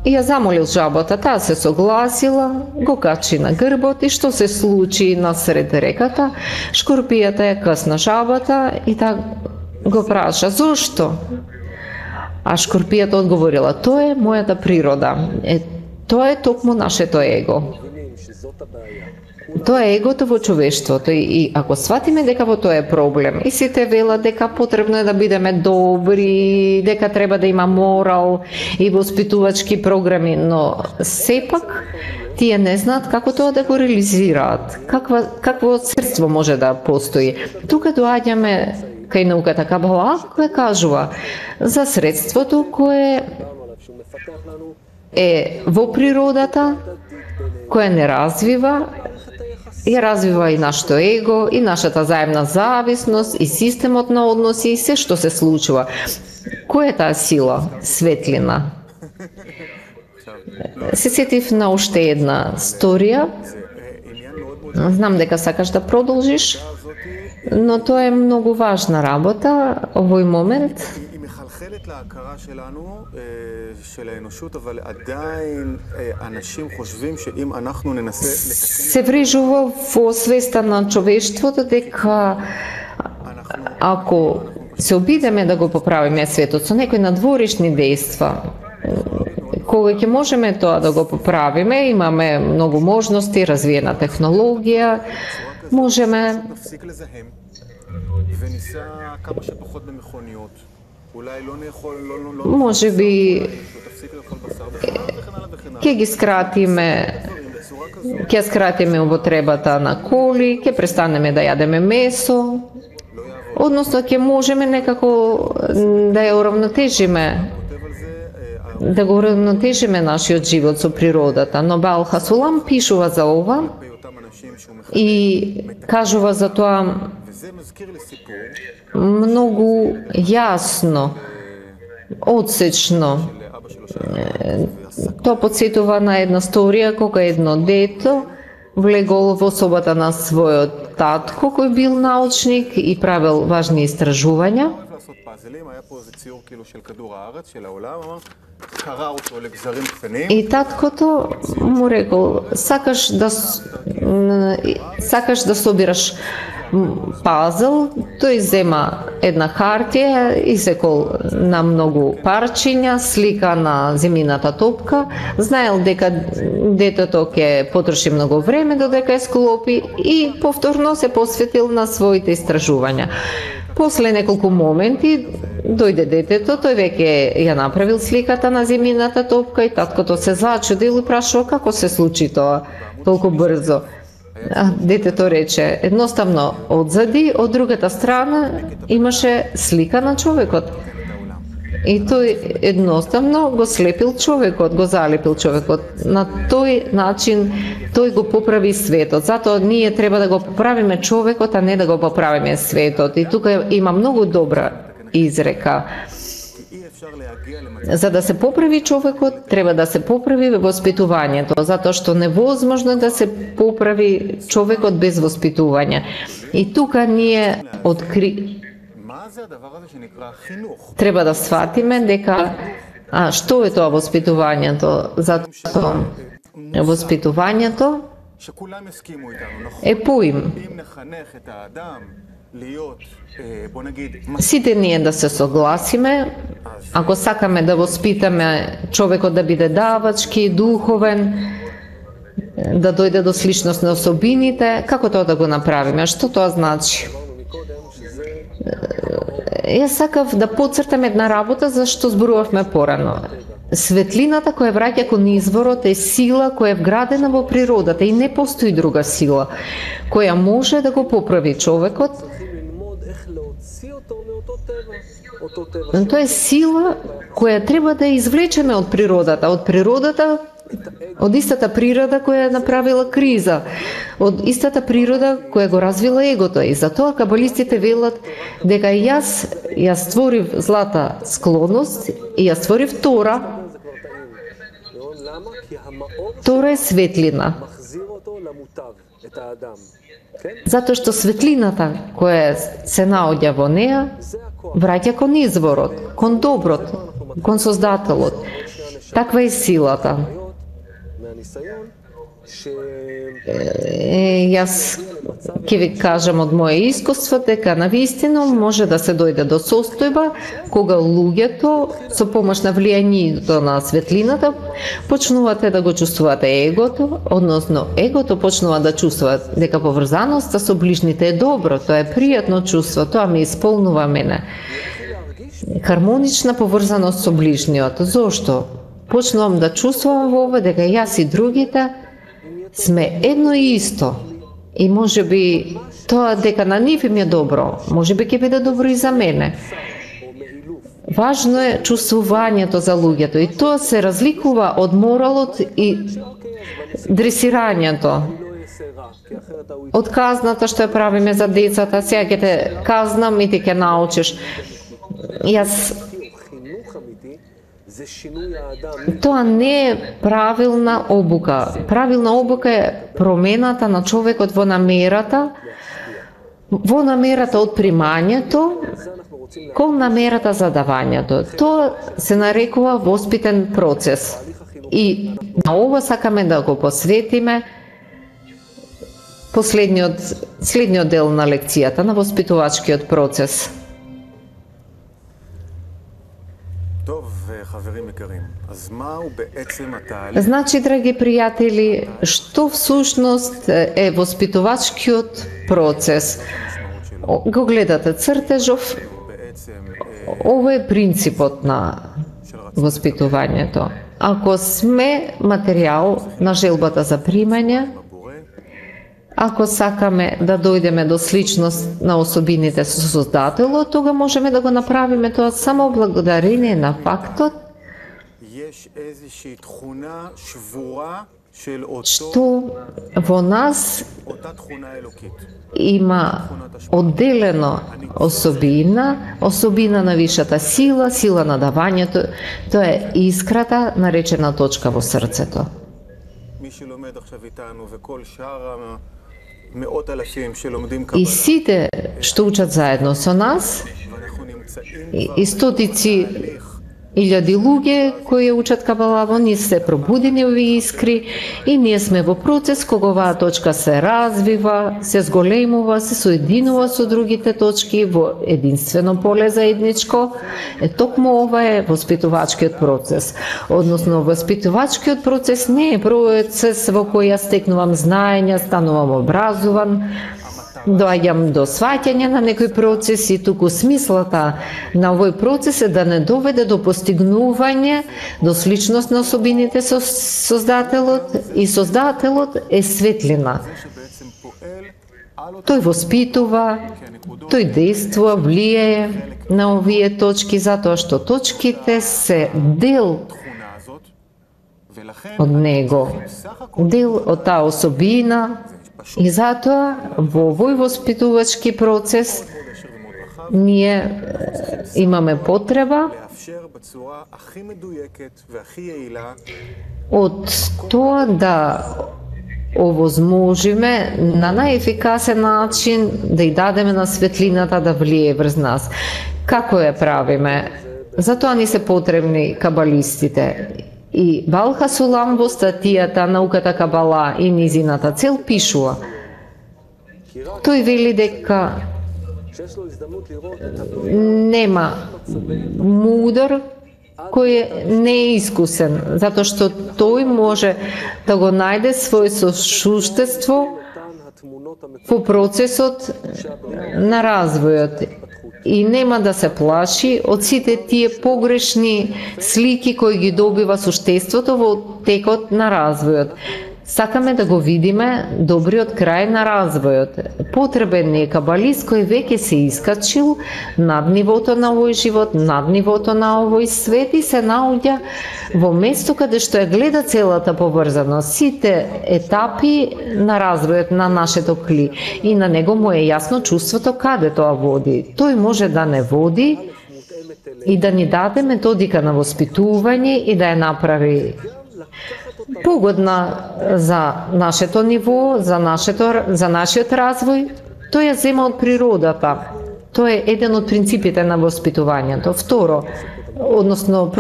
Speaker 5: и ја замолил жабата, таа се согласила, го качи на грбот и што се случи насред реката, шкорпијата ја касна жабата и таа го праша, зошто? А шкорпијата одговорила, тоа е мојата природа, тоа е токму нашето его. Тоа е егото во човештвото и ако сватиме дека во тоа е проблем и сите велат дека потребно е да бидеме добри, дека треба да има морал и воспитувачки програми, но сепак тие не знаат како тоа да го реализираат, какво средство може да постои. Тука доаѓаме кај науката Кабала, која кажува за средството кое е во природата, кое не развива, ја развива и нашето его, и нашата заемна зависност, и системот на односи, и се што се случува. Која е таа сила? Светлина. Се сетив на уште една сторија. Знам дека сакаш да продолжиш, но тоа е многу важна работа овој момент.
Speaker 3: להכרה שלנו, של האנושות, אבל עדיין אנשים חושבים שאם אנחנו ננסה לתקן...
Speaker 5: Се врежува во свеста на човештвото дека ако се обидеме да го поправиме светот со некои надворешни дејства, кога ќе можеме тоа да го поправиме, имаме многу можности, развиена технологија, можеме може би ќе ги скратиме, ќе скратиме употребата на коли, ќе престанеме да јадеме месо, односно ќе можеме некако да ја уравнотежиме, да го уравнотежиме нашиот живот со природата. Но Баал Хасулам пишува за ова и кажува за тоа многу јасно, одсечно. Тоа подсетува на една сторија кога едно дето влегол во собата на својот татко кој бил научник и правил важни истражувања.
Speaker 3: לעשות פאזלים, היה פה איזה ציור כאילו של כדור הארץ, של העולם, אמר, קרע אותו לגזרים קטנים.
Speaker 5: И таткото му рекол, сакаш да собираш пазл, тој зема една хартија, исекол на многу парчиња, слика на земјината топка, знаел дека детето ќе потроши многу време додека ја склопи и повторно се посветил на своите истражувања. После неколку моменти дојде детето, тој веќе ја направил сликата на земјината топка и таткото се зачудил и прашува како се случи тоа толку брзо. Детето рече, едноставно одзади, од другата страна имаше слика на човекот. И тој едноставно го слепил човекот, го залепил човекот. На тој начин тој го поправи светот. Затоа ние треба да го поправиме човекот, а не да го поправиме светот. И тука има многу добра изрека. За да се поправи човекот, треба да се поправи воспитувањето, затоа што невозможно да се поправи човекот без воспитување. И тука ние треба да сватиме дека што е тоа воспитувањето, затоа воспитувањето е поим. Сите ние да се согласиме, ако сакаме да воспитаме човекот да биде давачки, духовен, да дојде до сличност на особините, како тоа да го направиме? Што тоа значи? Јас сакав да потцртам една работа за што зборувавме порано. Светлината која враќа кон изворот е сила која е вградена во природата и не постои друга сила која може да го поправи човекот. Тоа е сила која треба да извлечеме од природата. Од истата природа која направила криза, од истата природа која го развила егото. И затоа кабалистите велат дека јас створив злата склонност и ја створив Тора. Тора е светлина. Затоа што светлината која се наоѓа во неа враќа кон изворот, кон доброт, кон Создателот. Таква е силата. Јас ќе ви кажам од моје искуство дека навистина може да се дојде до состојба кога луѓето со помош на влијанието на светлината почнувате да го чувствувате егото, односно егото почнува да чувствува дека поврзаноста со ближните е добро, тоа е пријатно чувство, тоа ме исполнува мене. Хармонична поврзаност со ближниот. Зошто? Почнувам да чувствувам во ова дека јас и другите сме едно и исто. И може би тоа дека на нив им е добро, може би ќе биде добро и за мене. Важно е чувствувањето за луѓето и тоа се разликува од моралот и дресирањето. Од казната што ја правиме за децата, сега ќе те казнам и ти ќе научиш. Тоа не е правилна обука. Правилна обука е промената на човекот во намерата од примањето кон намерата за давањето. Тоа се нарекува воспитен процес. И на ова сакаме да го посветиме следниот дел на лекцијата, на воспитувачкиот процес. Значи, драги пријатели, што всушност е воспитувачкиот процес? Го гледате цртежов, ова е принципот на воспитувањето. Ако сме материјал на желбата за примање, ако сакаме да дојдеме до сличност на особините со Создателот, тога можеме да го направиме тоа само благодарение на фактот што во нас има одделено особина на вишата сила, сила на давањето, тоа е искрата, наречена точка во срцето. И сите што учат заедно со нас, и стотици илјади луѓе кои учат Кабала, они се пробудени овие искри и ние сме во процес кога оваа точка се развива, се зголемува, се соединува со другите точки во единствено поле заедничко. Токму ова е воспитувачкиот процес. Односно, воспитувачкиот процес не е процес во кој јас стекнувам знаења, станувам образован, доаѓам до сваќање на некој процес и туку смислата на овој процес е да не доведе до постигнување, до сличност на особините со Создателот, и Создателот е светлина. Тој воспитува, тој действува, влијае на овие точки, затоа што точките се дел од него, дел од таа особина. И затоа во овој воспитувачки процес ние имаме потреба од тоа да овозможиме на најефикасен начин да ја дадеме на светлината да влие врз нас. Како ја правиме? Затоа ни се потребни кабалистите. И Балха Сулам во статијата Науката Кабала и низината цел пишува. Тој вели дека нема мудар кој не е искусен, затоа што тој може да го најде свој сошуштество во процесот на развојот и нема да се плаши од сите тие погрешни слики кои ги добива суштеството во текот на развојот. Сакаме да го видиме добриот крај на развојот. Потребен е кабалист кој веќе се искачил над нивото на овој живот, над нивото на овој свет и се наоѓа во место каде што ја гледа целата поврзаност, сите етапи на развојот на нашето кли и на него му е јасно чувството каде тоа води. Тој може да не води и да ни даде методика на воспитување и да ја направи погодна за нашето ниво, за нашиот развој. Тој ја зема од природата. Тоа е еден од принципите на воспитувањето. Второ, односно,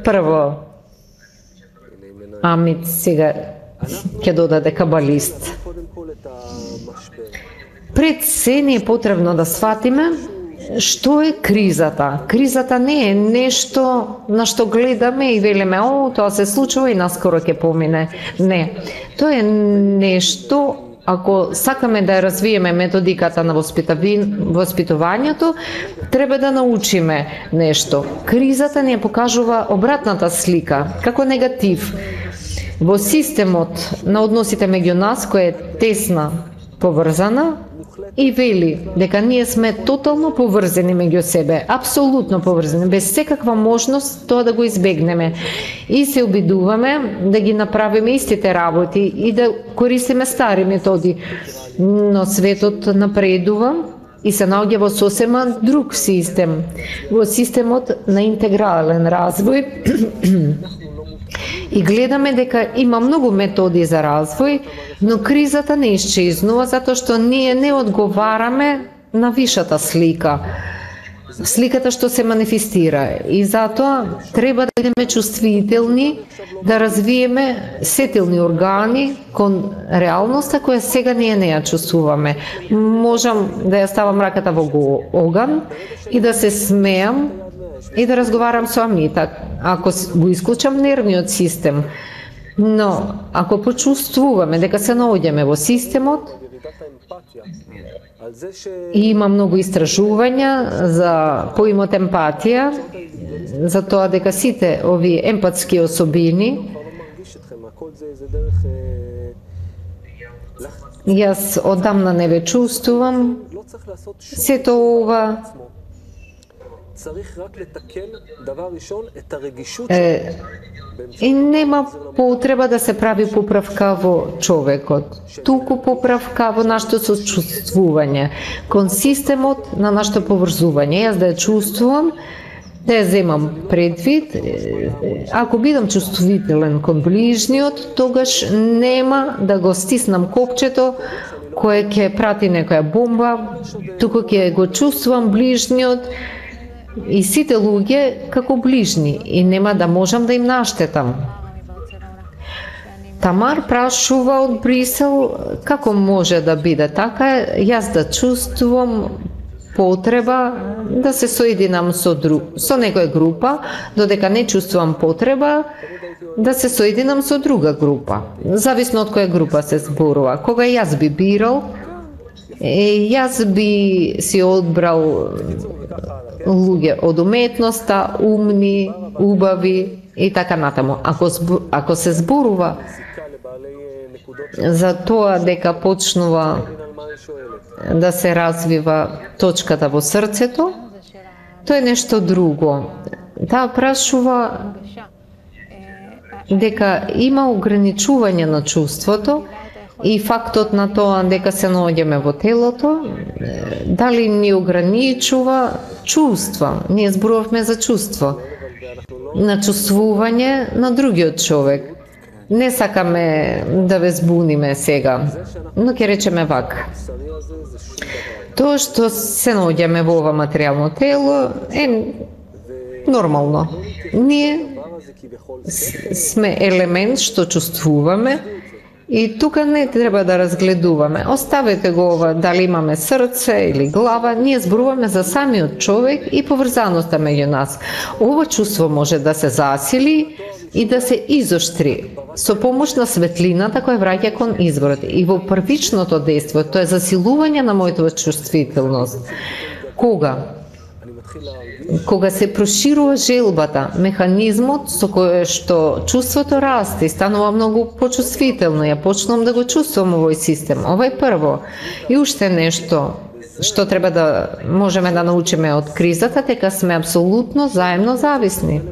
Speaker 5: прво, Амит сега ќе додаде кабалист. Пред се не е потребно да сватиме што е кризата. Кризата не е нешто на што гледаме и велиме, тоа се случува и наскоро ќе помине. Не. Тоа е нешто, ако сакаме да развиеме методиката на воспитувањето, треба да научиме нешто. Кризата ни покажува обратната слика, како негатив. Во системот на односите меѓу нас, која е тесна, поврзана, и вели дека ние сме тотално поврзани меѓу себе, апсолутно поврзани, без секаква можност тоа да го избегнеме. И се обидуваме да ги направиме истите работи и да користиме стари методи. Но светот напредува и се наоѓа во сосема друг систем, во системот на интегрален развој. И гледаме дека има многу методи за развој, но кризата не исчезнува затоа што ние не одговараме на вишата слика. Сликата што се манифестира. И затоа треба да бидеме чувствителни, да развиеме сетилни органи кон реалноста која сега ние не ја чувствуваме. Можам да ја ставам раката во оган и да се смеам и да разговарам со Амита, ако го исклучам нервниот систем. Но, ако почувствуваме дека се наоѓаме во системот, и има многу истражувања за поимот емпатија, за тоа дека сите овие емпатски особини, јас одамна не ве чувствувам, сето ова и нема потреба да се прави поправка во човекот, туку поправка во нашето сочувствување, кон системот на нашето поврзување. Јас да ја чувствувам, да ја земам предвид, ако бидам чувствителен кон ближниот, тогаш нема да го стиснам копчето кој ќе прати некоја бомба, туку ќе го чувствувам ближниот и сите луѓе како ближни и нема да можам да им наштетам. Тамар прашува од Брисел како може да биде така, јас да чувствувам потреба да се соединам со некоја група, додека не чувствувам потреба да се соединам со друга група. Зависно од која група се зборува. Кога јас би бирал, јас би си одбрал луѓе од уметноста, умни, убави и така натаму. Ако се зборува за тоа дека почнува да се развива точката во срцето, тоа е нешто друго. Таа прашува дека има ограничување на чувството и фактот на тоа дека се наоѓаме во телото, дали ни ограничува чувства. Ние зборувавме за чувство, на чувствување на другиот човек. Не сакаме да ве збуниме сега, но ќе речеме вака. Тоа што се наоѓаме во ова материјално тело е нормално. Ние сме елемент што чувствуваме и тука не треба да разгледуваме. Оставете го ова, дали имаме срце или глава, ние зборуваме за самиот човек и поврзаноста меѓу нас. Ова чувство може да се засили и да се изоштри со помош на светлината која враќа кон изворот. И во првичното дејство, тоа е засилување на мојата чувствителност. Кога се проширува желбата, механизмот со кој што чувството расте и станува многу почувствително, ја почнувам да го чувствувам овој систем. Ова е прво. И уште нешто што треба да можеме да научиме од кризата, дека сме апсолутно заемно зависни.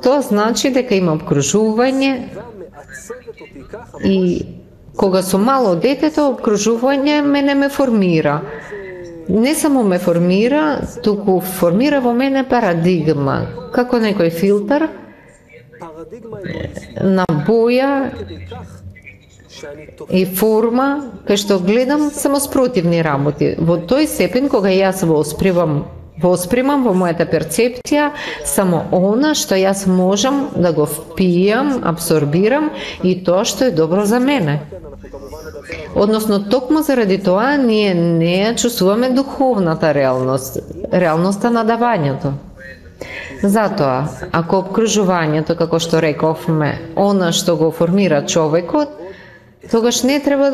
Speaker 5: Тоа значи дека има обкружување и кога сум мало детето, обкружување мене ме формира. Не само ме формира, туку формира во мене парадигма, како некој филтер на боја и форма, кај што гледам само спротивни работи. Во тој степен кога јас воспримам во мојата перцепција само она што јас можам да го впијам, абсорбирам и тоа што е добро за мене. Односно, токму заради тоа ние не ја чувствуваме духовната реалност, реалноста на давањето. Затоа, ако обкружувањето, како што рековме, она што го формира човекот, тогаш не треба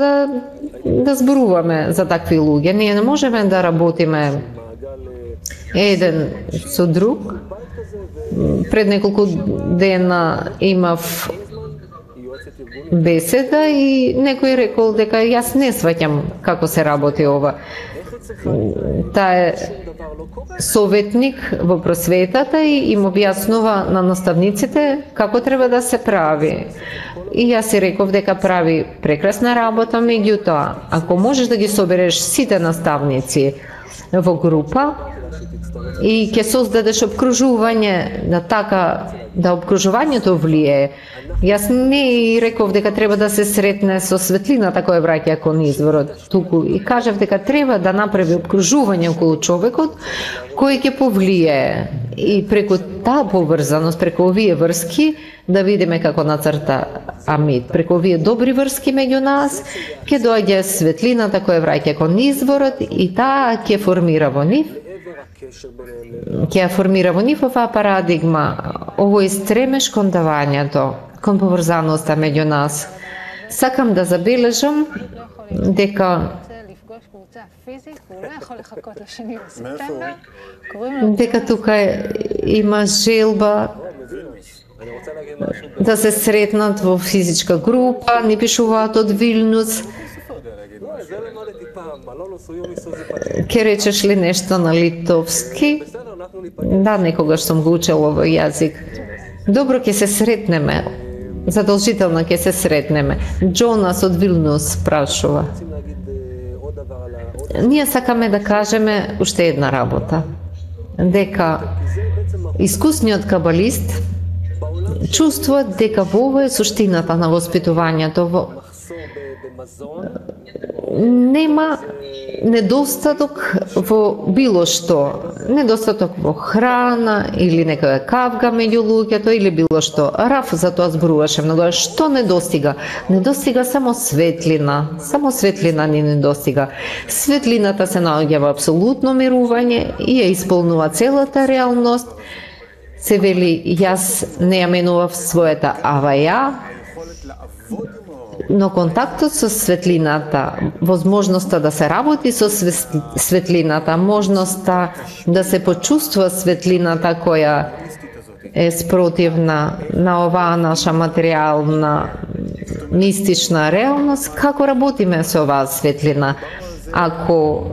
Speaker 5: да зборуваме за такви луѓе. Ние не можеме да работиме еден со друг. Пред неколку дена имав беседа и некој рекол дека јас не сваќам како се работи ова. Таа е советник во просветата и им објаснува на наставниците како треба да се прави. И јас си реков дека прави прекрасна работа, меѓутоа, ако можеш да ги собереш сите наставници во група и ќе создадеш обкружување на така да обкружувањето влие. Јас не реков дека треба да се сретне со светлината која враќа кон изворот, туку и кажав дека треба да направи обкружување околу човекот кој ќе повлие и преку таа поврзаност, преку овие врски да видиме како нацрта Амид. Преку овие добри врски меѓу нас ќе доаѓа светлината која враќа кон изворот и таа ќе формира во нив оваа парадигма, овој стремеш кон давањето, кон поврзаноста меѓу нас. Сакам да забележам дека тука има желба да се сретнат во физичка група, ни пишуваат од Вилнус. Ке речеш ли нешто на литовски? Да, некогаш сум го учела овој јазик. Добро, ќе се сретнеме. Задолжително ќе се сретнеме. Джонас од Вилнус прашува. Ние сакаме да кажеме уште една работа. Дека искусниот кабалист чувствува дека во ова е суштината на воспитувањето. нема недостаток во било што, недостаток во храна или некоја кавга меѓу луѓето или било што. Раф за тоа зборуваше многу. Што недостига? Недостига само светлина ни недостига. Светлината се наоѓа во апсолутно мирување и ја исполнува целата реалност. Се вели, јас не ја менував својата аваја, но контактот со светлината, возможноста да се работи со светлината, можноста да се почувствува светлината која е спротивна на оваа наша материјална, мистична реалност, како работиме со оваа светлина? Ако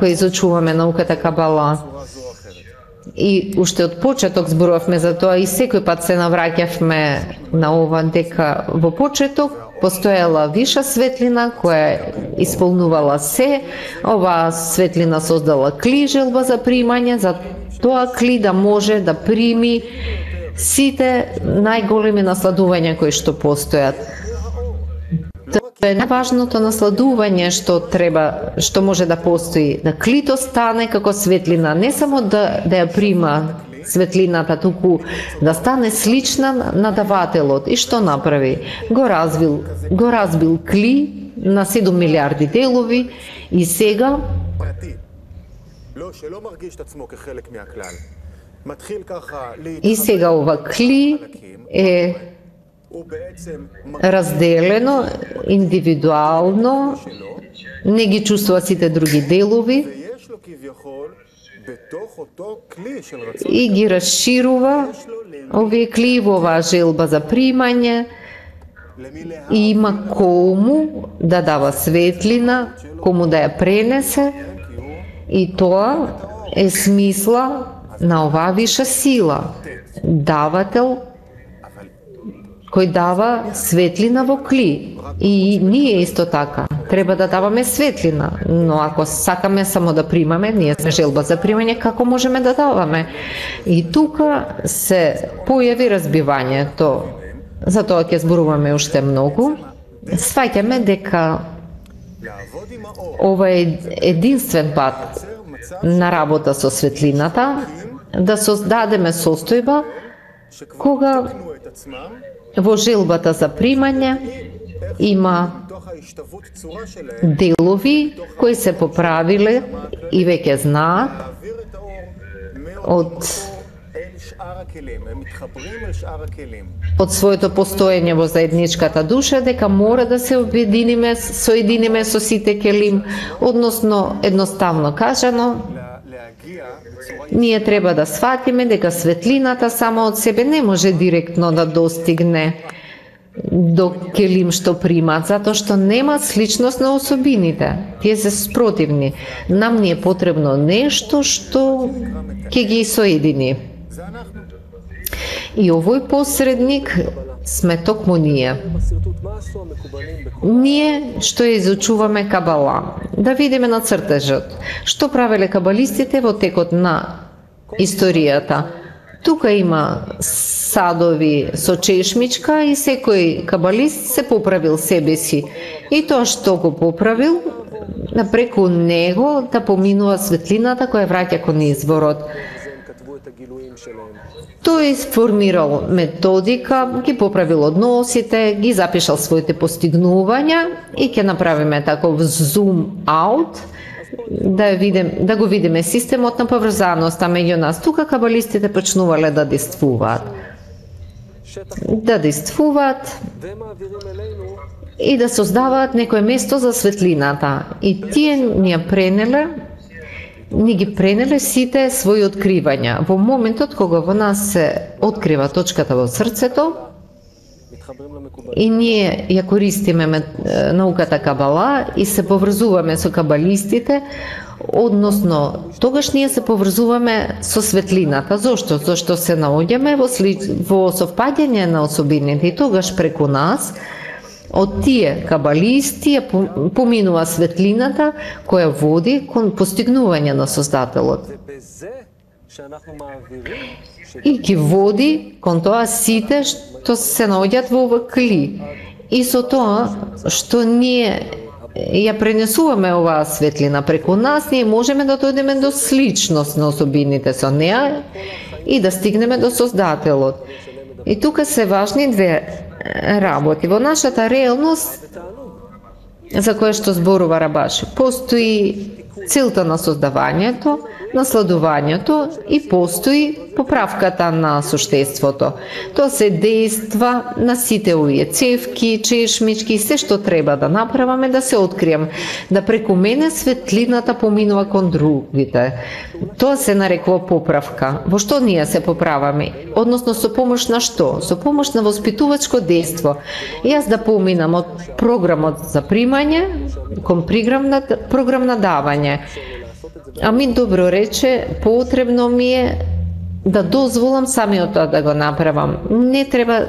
Speaker 5: изучуваме науката Кабала, и уште од почеток зборувавме за тоа и секој пат се навраќавме на ова, дека во почеток постоела виша светлина која исполнувала се. Оваа светлина создала кли желба за примање, за тоа кли да може да прими сите најголеми насладувања кои што постојат. Тоа е најважното насладување што може да постои, да клито стане како светлина, не само да ја прима светлината, туку да стане слична на давателот. И што направи? Го разбил кли на 7 милиарди делови и сега ова кли е разделено, индивидуално, не ги чувствува сите други делови и ги расширува овие кли во оваа желба за примање и има кому да дава светлина, кому да ја пренесе, и тоа е смисла на оваа виша сила. Давател кој дава светлина во кли. И ние исто така треба да даваме светлина, но ако сакаме само да примаме, ние сме желба за примање, како можеме да даваме? И тука се појави разбивањето. За тоа ќе зборуваме уште многу. Сваќаме дека ова е единствен пат на работа со светлината, да создадеме состојба кога во желбата за примање има делови кои се поправиле и веќе знаат од своето постоење во заедничката душа дека мора да се соединиме со сите келим, односно едноставно кажано, ние треба да сватиме дека светлината само од себе не може директно да достигне до келим што примат, затоа што нема сличност на особините. Тие се спротивни. Нам ни е потребно нешто што ќе ги соедини. И овој посредник сме токму ние. Ние што ја изучуваме Кабала, да видиме на цртежот што правеле кабалистите во текот на историјата. Тука има садови со чешмичка и секој кабалист се поправил себе си. И тоа што го поправил, преку него да поминува светлината која враќа кон изворот. Тој сформирал методика, ги поправил односите, ги запишал своите постигнувања и ќе направиме таков зум аут, да го видиме системот на поврзаноста меѓу нас. Тука кабалистите почнувале да действуваат. И да создаваат некое место за светлината. И тие ни ги пренеле сите своји откривања. Во моментот кога во нас се открива точката во срцето, и ние ја користиме науката Кабала и се поврзуваме со кабалистите, односно тогаш ние се поврзуваме со светлината. Зошто? Зошто се наоѓаме во совпаѓање на особините и тогаш преку нас од тие кабалисти поминува светлината која води кон постигнување на Создателот. И ги води кон тоа сите што се наоѓаат во ова кли. И со тоа што ние ја пренесуваме оваа светлина преку нас, ние можеме да дојдеме до сличност на особините со неа и да стигнеме до Создателот. И тука се важни две работи. Во нашата реалност, за која што зборува Рабаш, постои целта на создавањето, насладувањето и постои поправката на суштеството. Тоа се дејства на сите овие цевки, чешмички, се што треба да направаме да се открием, да преку мене светлината поминува кон другите. Тоа се нарекува поправка. Во што ние се поправаме? Односно со помош на што? Со помош на воспитувачко дејство. Јас да поминам од програмот за примање кон програм на давање. Ами добро рече, потребно ми е да дозволам самиот тоа да го направам. Не треба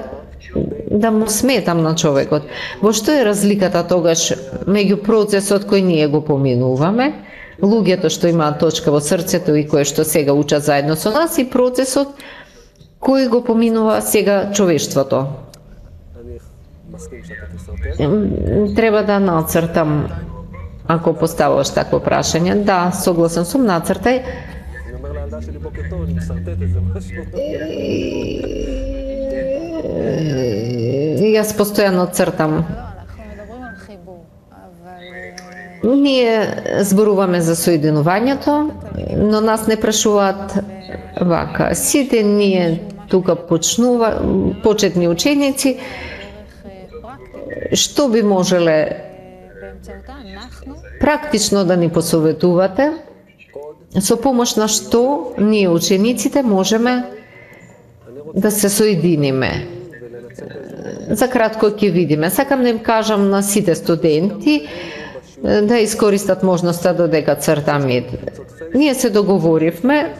Speaker 5: да му сметам на човекот. Во што е разликата тогаш меѓу процесот кој ние го поминуваме, луѓето што имаат точка во срцето и кои што сега учат заедно со нас, и процесот кој го поминува сега човештвото. Треба да нацртам. Ако поставуваш такво прашање, да, согласен сум, нацртај. Јас постојано цртам. Ние зборуваме за соединувањето, но нас не прашуваат вака. Сите ние тука почетни ученици, што би можеле практично да ни посоветувате, со помош на што ние учениците можеме да се соединиме. За кратко ќе видиме. Сакам да им кажам на сите студенти да искористат можноста додека цртаме. Ние се договоривме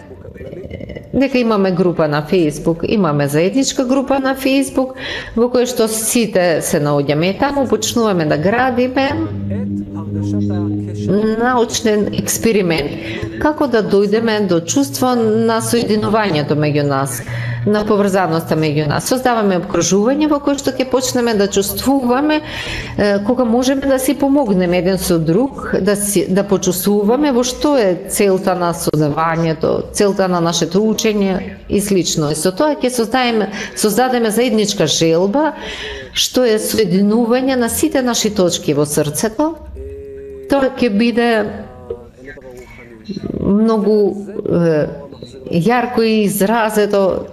Speaker 5: дека имаме група на Facebook, имаме заедничка група на Facebook, во која што сите се наоѓаме и таму почнуваме да градиме научен експеримент. Како да дојдеме до чувство на соединувањето меѓу нас, на поврзаноста меѓу нас. Создаваме обкружување во кое што ќе почнеме да чувствуваме кога можеме да си помогнеме еден со друг, да почувствуваме во што е целта на создавањето, целта на нашето учење и слично. И со тоа ќе создадеме заедничка желба, што е соединување на сите наши точки во срцето. Тоа ќе биде многу јарко и изразето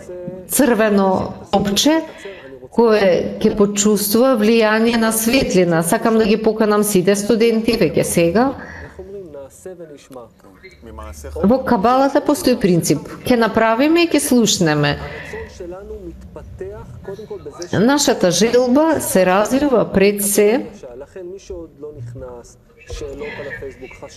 Speaker 5: црвено опче кое ќе почувствува влијание на светлина. Сакам да ги поканам сите студенти веќе сега. Во Кабалата постои принцип. Ќе направиме и ќе слушнеме. Нашата желба се развива пред се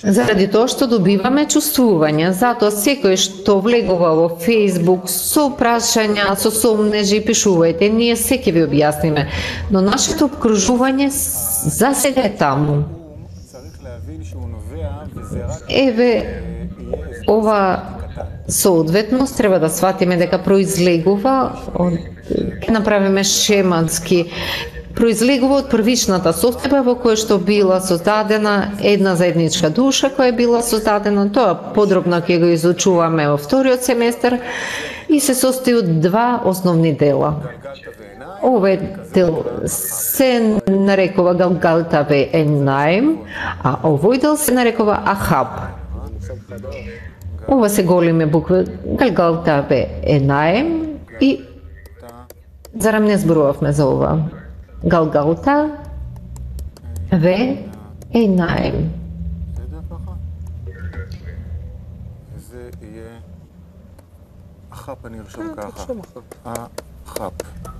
Speaker 5: заради тоа што добиваме чувствување. Затоа секој што влегува во Facebook со прашања, со сомнежи, пишувајте, ние се ќе ви објасниме. Но нашето обкружување засега е таму. Еве, ова соодветност треба да сватиме дека произлегува, ќе направиме шематски, произлегува од првичната состојба во која што била создадена една заедничка душа која била создадена. Тоа подробно ќе го изучуваме во вториот семестар и се состои од два основни дела. Овој дел се нарекува Галгалта ве Енаим, а овој дел се нарекува Ахаб. Ова се големи букви Галгалта ве Енаим и зарам не зборувавме за ова. Галгалта ве Енаим.
Speaker 3: זה יהיה אחאפ, אני ארשום ככה. אחאפ.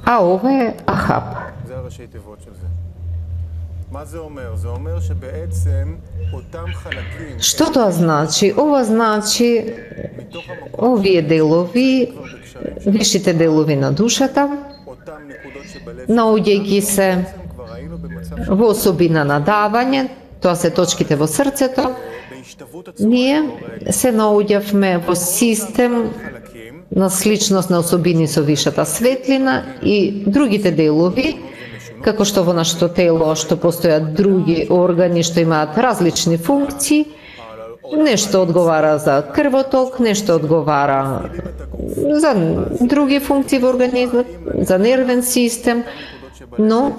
Speaker 5: ова е Ахаб.
Speaker 3: זה הראשי תיבות של זה. מה זה אומר? זה אומר שבעצם אותם חלקים...
Speaker 5: Што тоа значи? Ова значи овие делови, вишите делови на душата, наоѓајќи се во особина на давање, тоа се точките во срцето, ние се наоѓавме во систем на сличност на особини со вишата светлина и другите делови како што во нашето тело што постојат други органи што имаат различни функции, нешто одговара за крвоток, нешто одговара за други функции во организмот, за нервен систем, но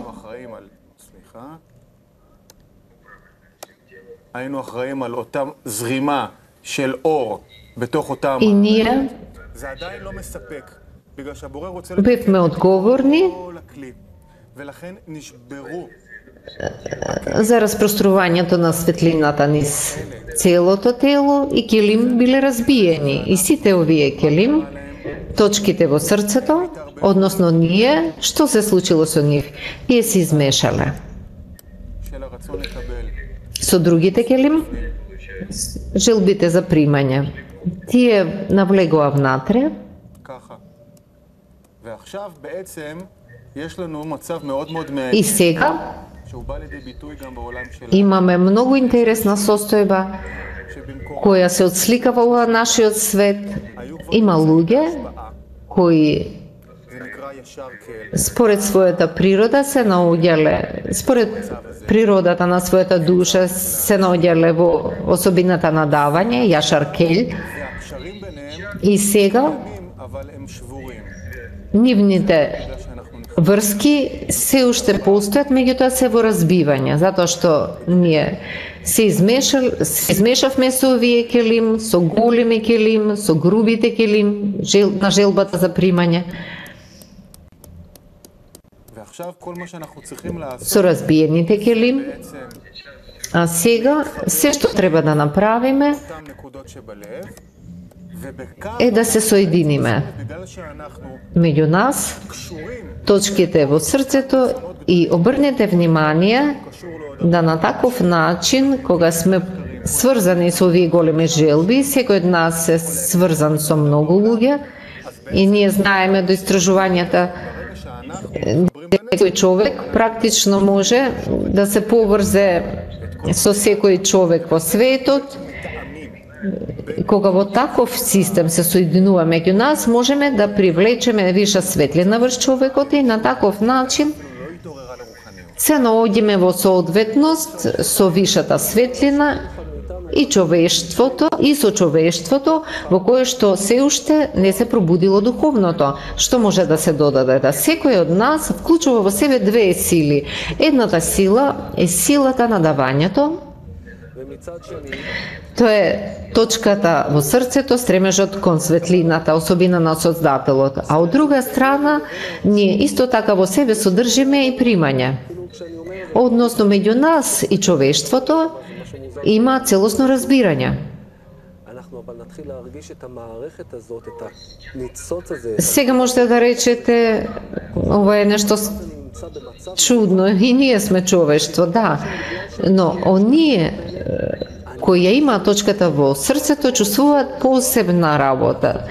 Speaker 3: היינו אחראים על אותה זרימה של אור בתוך אותם...
Speaker 5: и ние
Speaker 3: זה עדיין לא מספק, בגלל שהבורא רוצה...
Speaker 5: бевме одговорни
Speaker 3: כל הכלי, ולכן נשברו.
Speaker 5: за распространувањето на светлината низ целото тело и келим биле разбиени. И сите овие келим, точките во срцето, односно ние, што се случило со нив? Тие се измешале
Speaker 3: של הרצון לקבל.
Speaker 5: со другите келим, желбите за примање. Тие навлегоа внатре
Speaker 3: ככה. ועכשיו בעצם יש לנו מצב מאוד מאוד
Speaker 5: и
Speaker 3: מעניין,
Speaker 5: сега
Speaker 3: שהוא בא לידי ביטוי גם בעולם שלנו.
Speaker 5: имаме многу интересна состојба
Speaker 3: שבמקום
Speaker 5: која се отсликава во нашиот свет. Има луѓе кои
Speaker 3: זה נקרא ישר כאל.
Speaker 5: според својата природа се наоѓале, според природата на својата душа се наоѓале во особината на давање, јашар кель,
Speaker 3: והקשרים ביניהם
Speaker 5: и сега
Speaker 3: קיימים, אבל הם שבורים.
Speaker 5: нивните
Speaker 3: בגלל שאנחנו
Speaker 5: врски се уште постојат, меѓутоа се во разбивање, затоа што ние се измешавме со овие келим, со големи келим, со грубите келим, на желбата за примање,
Speaker 3: ועכשיו כל מה שאנחנו צריכים לעשות
Speaker 5: со разбиените келим,
Speaker 3: בעצם
Speaker 5: а сега се што треба да направиме
Speaker 3: אותם נקודות שבלב, ובכך
Speaker 5: е да се соединиме
Speaker 3: בגלל שאנחנו
Speaker 5: меѓу нас,
Speaker 3: קשורים,
Speaker 5: точките во срцето, и обрнете внимание да на таков начин, кога сме сврзани со овие големи желби, секој од нас е сврзан со многу луѓе, и ние знаеме до истражувањата секој човек практично може да се поврзе со секој човек во светот. Кога во таков систем се соединува меѓу нас, можеме да привлечеме виша светлина врз човекот и на таков начин се наоѓаме во соодветност со вишата светлина и човештвото, и со човештвото во кое што се уште не се пробудило духовното. Што може да се додаде? Да секој од нас вклучува во себе две сили. Едната сила е силата на давањето.
Speaker 1: ומצד שני,
Speaker 5: Тоа е точката во срцето, стремежот кон светлината, особина на Создателот. А од друга страна, ние исто така во себе содржиме и примање.
Speaker 1: כשאני אומר,
Speaker 5: Односно, меѓу нас и човештвото има целосно разбирање.
Speaker 1: אנחנו אבל נתחיל להרגיש את המערכת הזאת, את הניצוץ הזה,
Speaker 5: Сега можете да речете, ова е нешто
Speaker 1: נמצא במצב
Speaker 5: чудно, и ние сме човештво, да. Но оние кои ја имаат точката во срцето, чувствуваат посебна работа.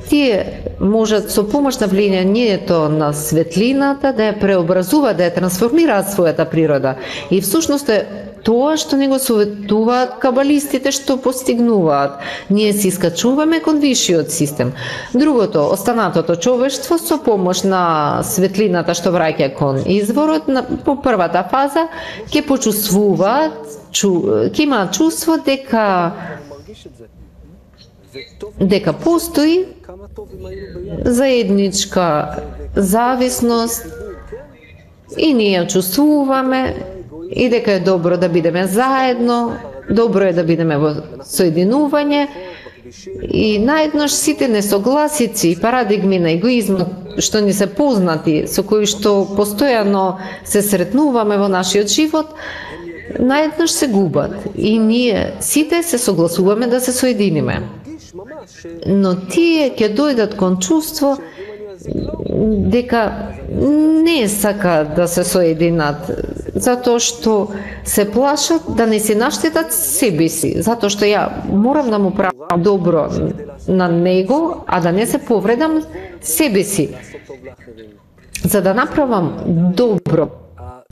Speaker 5: Тие можат со помош на влијанието на светлината да ја преобразуваат, да ја трансформираат својата природа. И всушност е тоа што не го советуваат кабалистите што постигнуваат. Ние се искачуваме кон вишиот систем. Другото, останатото човештво со помош на светлината што враќа кон изворот, по првата фаза ќе почувствуваат, ќе имаат чувство дека
Speaker 1: מרגיש את זה. וטוב
Speaker 5: дека постои
Speaker 1: כמה טוב אם היינו ביחד.
Speaker 5: заедничка зависност и ние ја чувствуваме и дека е добро да бидеме заедно, добро е да бидеме во соединување и наеднаш сите несогласици и парадигми на егоизмот што ни се познати, со кои што постојано се сретнуваме во нашиот живот, наеднаш се губат и ние сите се согласуваме да се соединиме.
Speaker 1: מרגיש ממש
Speaker 5: Но тие ќе дојдат кон чувство дека не сака да се соединат, затоа што се плашат да не се наштетат себе си, затоа што ја морам да му правам добро на него, а да не се повредам себе си.
Speaker 1: לעשות טוב לאחרים.
Speaker 5: За да направам добро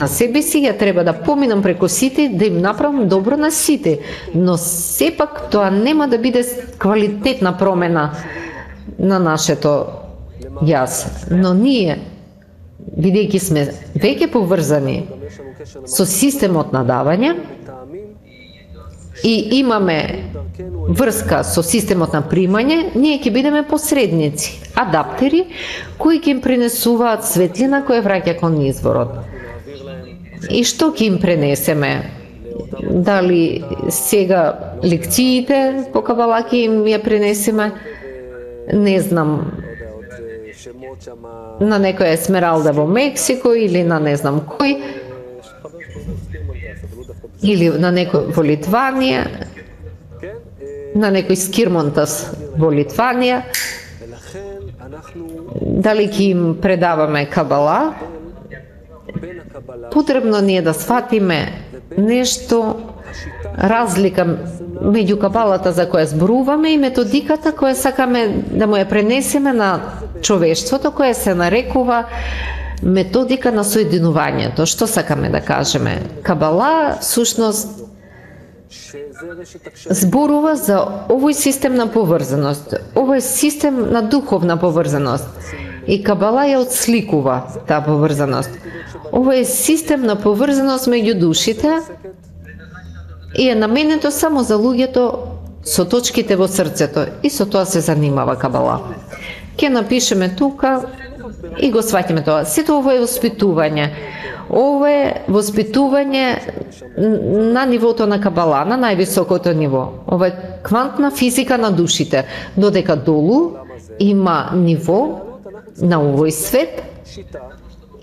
Speaker 5: на себе си, ја треба да поминам преку сите, да им направам добро на сите. Но сепак тоа нема да биде квалитетна промена на нашето јас. Но ние бидејќи сме веќе поврзани со системот на давање и имаме врска со системот на примање, ние ќе бидеме посредници, адаптери, кои ќе им пренесуваат светлина која враќа кон изворот. И што ќе им пренесеме? Дали сега лекциите по Кабала ќе им ја пренесеме? Не знам, на некоја Есмералда во Мексико или на не знам кој, или на некој во Литванија, на некој Скирмонтас во Литванија. Дали ќе им предаваме Кабала? Потребно ни е да сватиме нешто, разлика меѓу Кабалата за која зборуваме и методиката која сакаме да му ја пренесеме на човештвото, која се нарекува методика на соединувањето. Што сакаме да кажеме? Кабала всушност зборува за овој систем на поврзаност, овој систем на духовна поврзаност. И Кабала ја отсликува таа поврзаност. Овој систем на поврзаност меѓу душите и е наменето само за луѓето со точките во срцето, и со тоа се занимава Кабала. Ќе напишеме тука и го сваќаме тоа. Сето ово е воспитување. Ово е воспитување на нивото на Кабала, на највисокото ниво. Ова е квантна физика на душите, додека долу има ниво на овој свет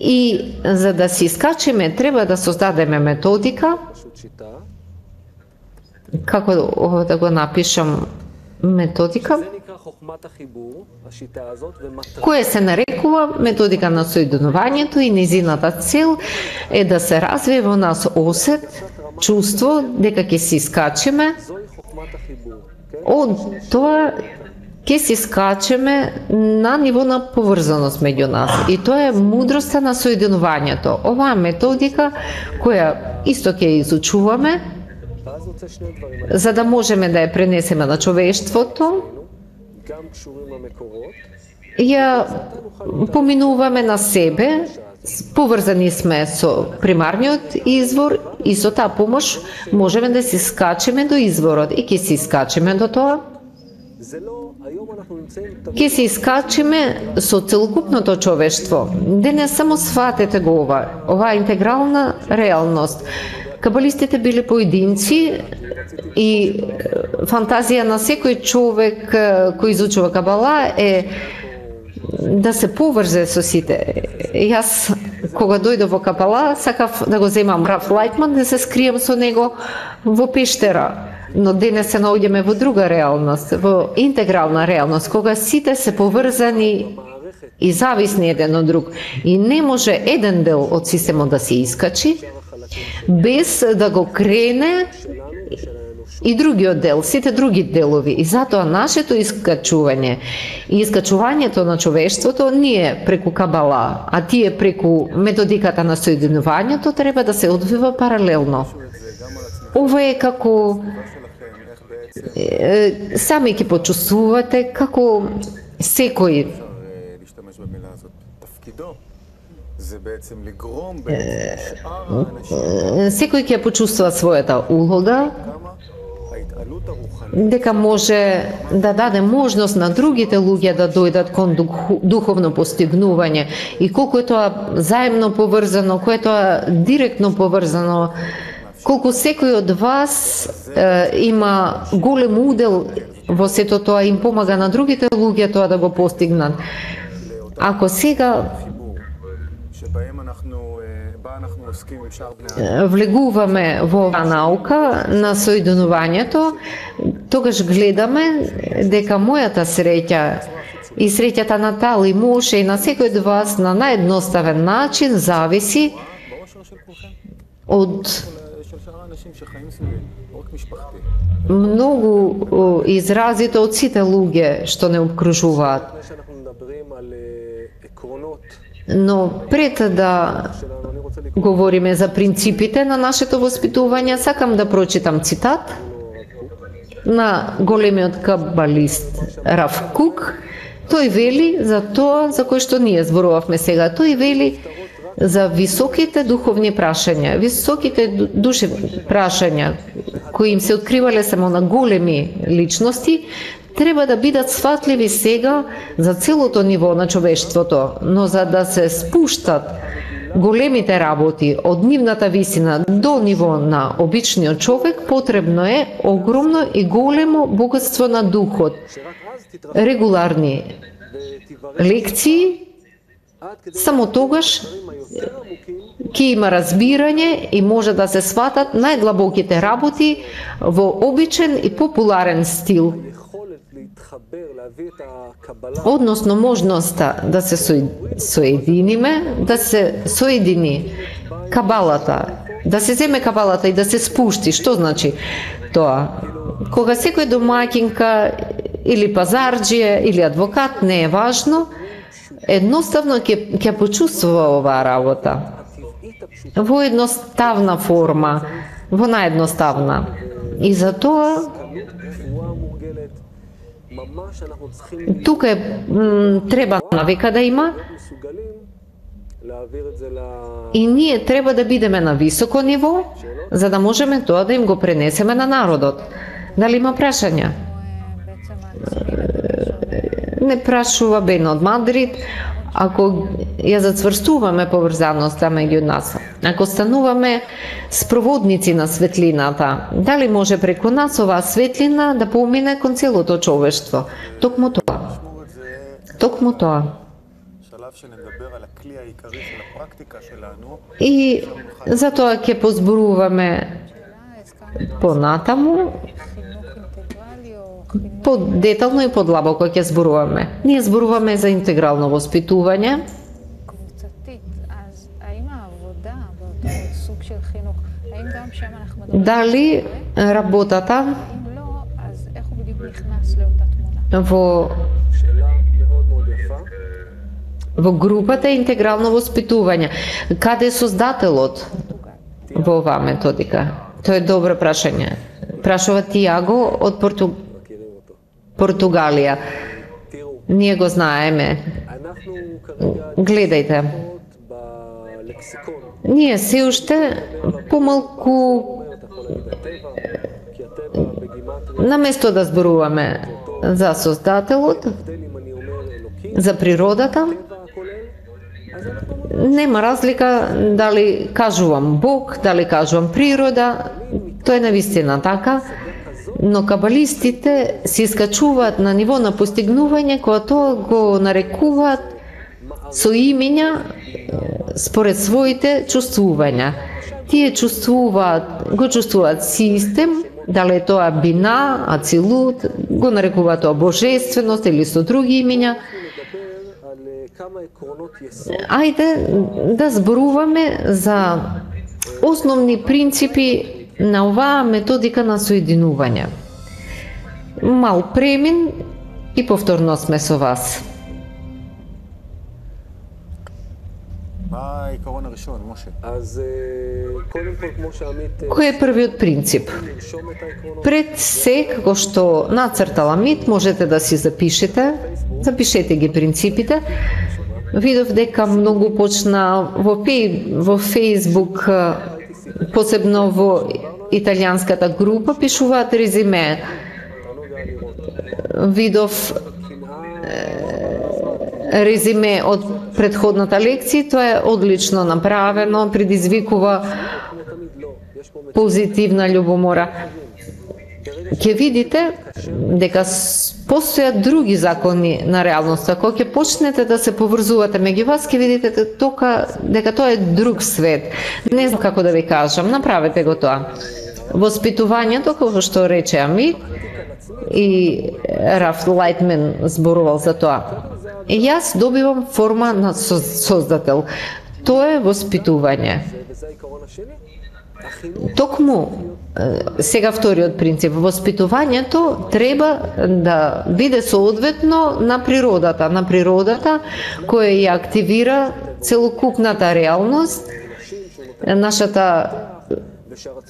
Speaker 5: и за да се искачиме треба да создадеме методика. Како да го напишам методика? Која се нарекува методика на соединувањето и незината цел е да се развие во нас осет, чувство дека ќе се искачиме од тоа, ќе се искачиме на ниво на поврзаност меѓу нас. И тоа е мудроста на соединувањето. Оваа методика која исто ќе изучуваме за да можеме да ја пренесеме на човештвото, ја поминуваме на себе, поврзани сме со примарниот извор и со таа помош можеме да се скачеме до изворот и ќе се искачеме до тоа. Ќе се искачеме со целокупното човештво. Денес само сватете го оваа интегрална реалност. Кабалистите биле поединци и фантазија на секој човек кој изучува Кабала е да се поврзе со сите. Јас, кога дојдов во Кабала, сакав да го земам Раф Лајтман, да се скрием со него во пештера. Но денес се наоѓаме во друга реалност, во интегрална реалност, кога сите се поврзани и зависни еден од друг. И не може еден дел од системот да се искачи, без да го крене и другиот дел, сите други делови. И затоа нашето искачување и искачувањето на човештвото ние преку Кабала, а тие преку методиката на соединувањето треба да се одвива паралелно. Ова е како сами ќе почувствувате како секој секој ќе почувствува својата улога, дека може да даде можност на другите луѓе да дојдат кон духовно постигнување и колку е тоа заемно поврзано, кое е тоа директно поврзано, колку секој од вас има голем удел во сето тоа, им помага на другите луѓе тоа да го постигнат. Ако сега влегуваме во оваа наука на соединувањето, тогаш гледаме дека мојата среќа и среќата на Тали Моше и на секој од вас на наједноставен начин зависи од многу изразите од сите луѓе што не обкружуваат. Но пред да говориме за принципите на нашето воспитување, сакам да прочитам цитат на големиот кабалист Рав Кук, Тој вели за тоа за кој што ние зборувавме сега. Тој вели за високите духовни прашања, високите душевни прашања кои им се откривале само на големи личности, треба да бидат сватливи сега за целото ниво на човештвото, но за да се спуштат големите работи од нивната висина до ниво на обичниот човек, потребно е огромно и големо богатство на духот, регуларни лекции. Само тогаш ќе има разбирање и може да се сватат најдлабоките работи во обичен и популарен стил. Односно можноста да се соединиме, да се соедини кабалата, да се земе кабалата и да се спушти. Што значи тоа? Кога секој домаќинка или пазарџија или адвокат, не е важно, едноставно ќе почувствува оваа работа во едноставна форма, во наједноставна. И затоа тука треба навика да има и ние треба да бидеме на високо ниво за да можеме тоа да им го пренесеме на народот. Дали има прашања? Не прашува Бен од Мадрид. Ако ја зацврстуваме поврзаноста меѓу нас, ако стануваме спроводници на светлината, дали може преку нас оваа светлина да помине кон целото човештво? Токму тоа. Токму тоа. И затоа ќе позборуваме понатаму, подетално и подлабоко ќе зборуваме. Ние зборуваме за интегрално воспитување. Дали работата во групата интегрално воспитување, каде е создателот во оваа методика? Тоа е добро прашање. Прашува Тиаго од Португалија. Ние го знаеме. Гледајте. Ние се уште помалку наместо да зборуваме за создателот, за природата, нема разлика дали кажувам Бог, дали кажувам природа, тоа е навистина така, но кабалистите се искачуваат на ниво на постигнување кога тоа го нарекуваат со имења според своите чувствувања. Тие го чувствуваат систем, дали е тоа бина, ацилут, го нарекуваат тоа божественост или со други имења. Ајде да зборуваме за основни принципи на оваа методика на соединување. Мал премин и повторно сме со вас. Кој е првиот принцип? Пред се, како што нацртала Мит, можете да си запишете ги принципите. Видов дека многу почна во Фейсбук, посебно во италијанската група, пишуваат резиме. Видов резиме од предходната лекција, тоа е одлично направено, предизвикува позитивна љубомора. Ќе видите дека постојат други закони на реалноста. Кога ќе почнете да се поврзувате меѓу вас, ќе видите дека тоа е друг свет. Не знам како да ви кажам, направете го тоа. Воспитувањето, како што рече Ами, и Раф Лайтман зборувал за тоа. И јас добивам форма на создател. Тоа е воспитување. Токму сега вториот принцип, воспитувањето треба да биде соодветно на природата која ја активира целокупната реалност, нашата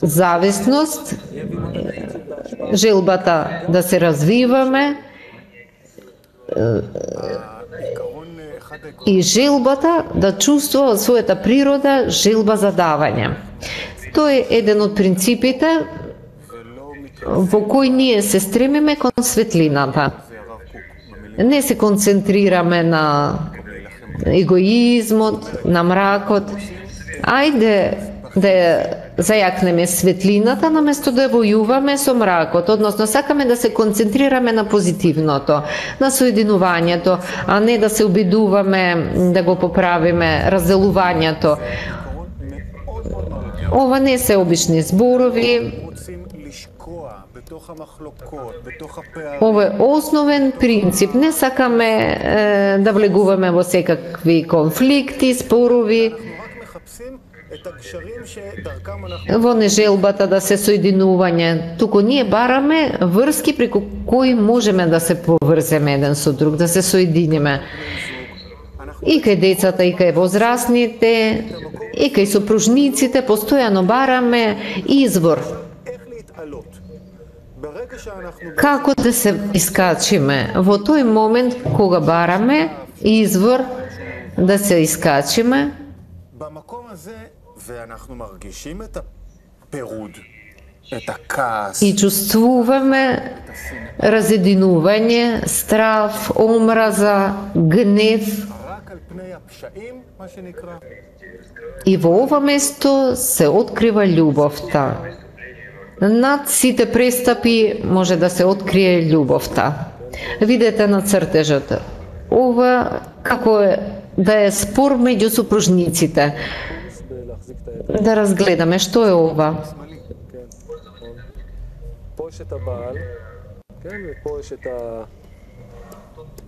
Speaker 5: зависност, желбата да се развиваме, и желбата да чувствува од својата природа желба за давање. Тоа е еден од принципите во кој ние се стремиме кон светлината. Не се концентрираме на егоизмот, на мракот. Ајде да зајакнеме светлината наместо да војуваме со мракот, односно сакаме да се концентрираме на позитивното, на соединувањето, а не да се обидуваме да го поправиме разделувањето. Ова не се обични зборови. Ова е основен принцип. Не сакаме да влегуваме во секакви конфликти, спорови, во нежелбата да се соединување. Туку ние бараме врски преку кои можеме да се поврземе еден со друг, да се соединиме. И кај децата, и кај возрастните, и кај сопружниците, постојано бараме извор. Како да се искачиме? Во тој момент кога бараме извор да се искачиме, и чувствуваме разединување, страв, омраза, гнев. И во ова место се открива љубовта. Над сите престапи може да се открие љубовта. Видете на цртежот. Ова како е да е спор меѓу сопружниците. Да разгледаме што е ова.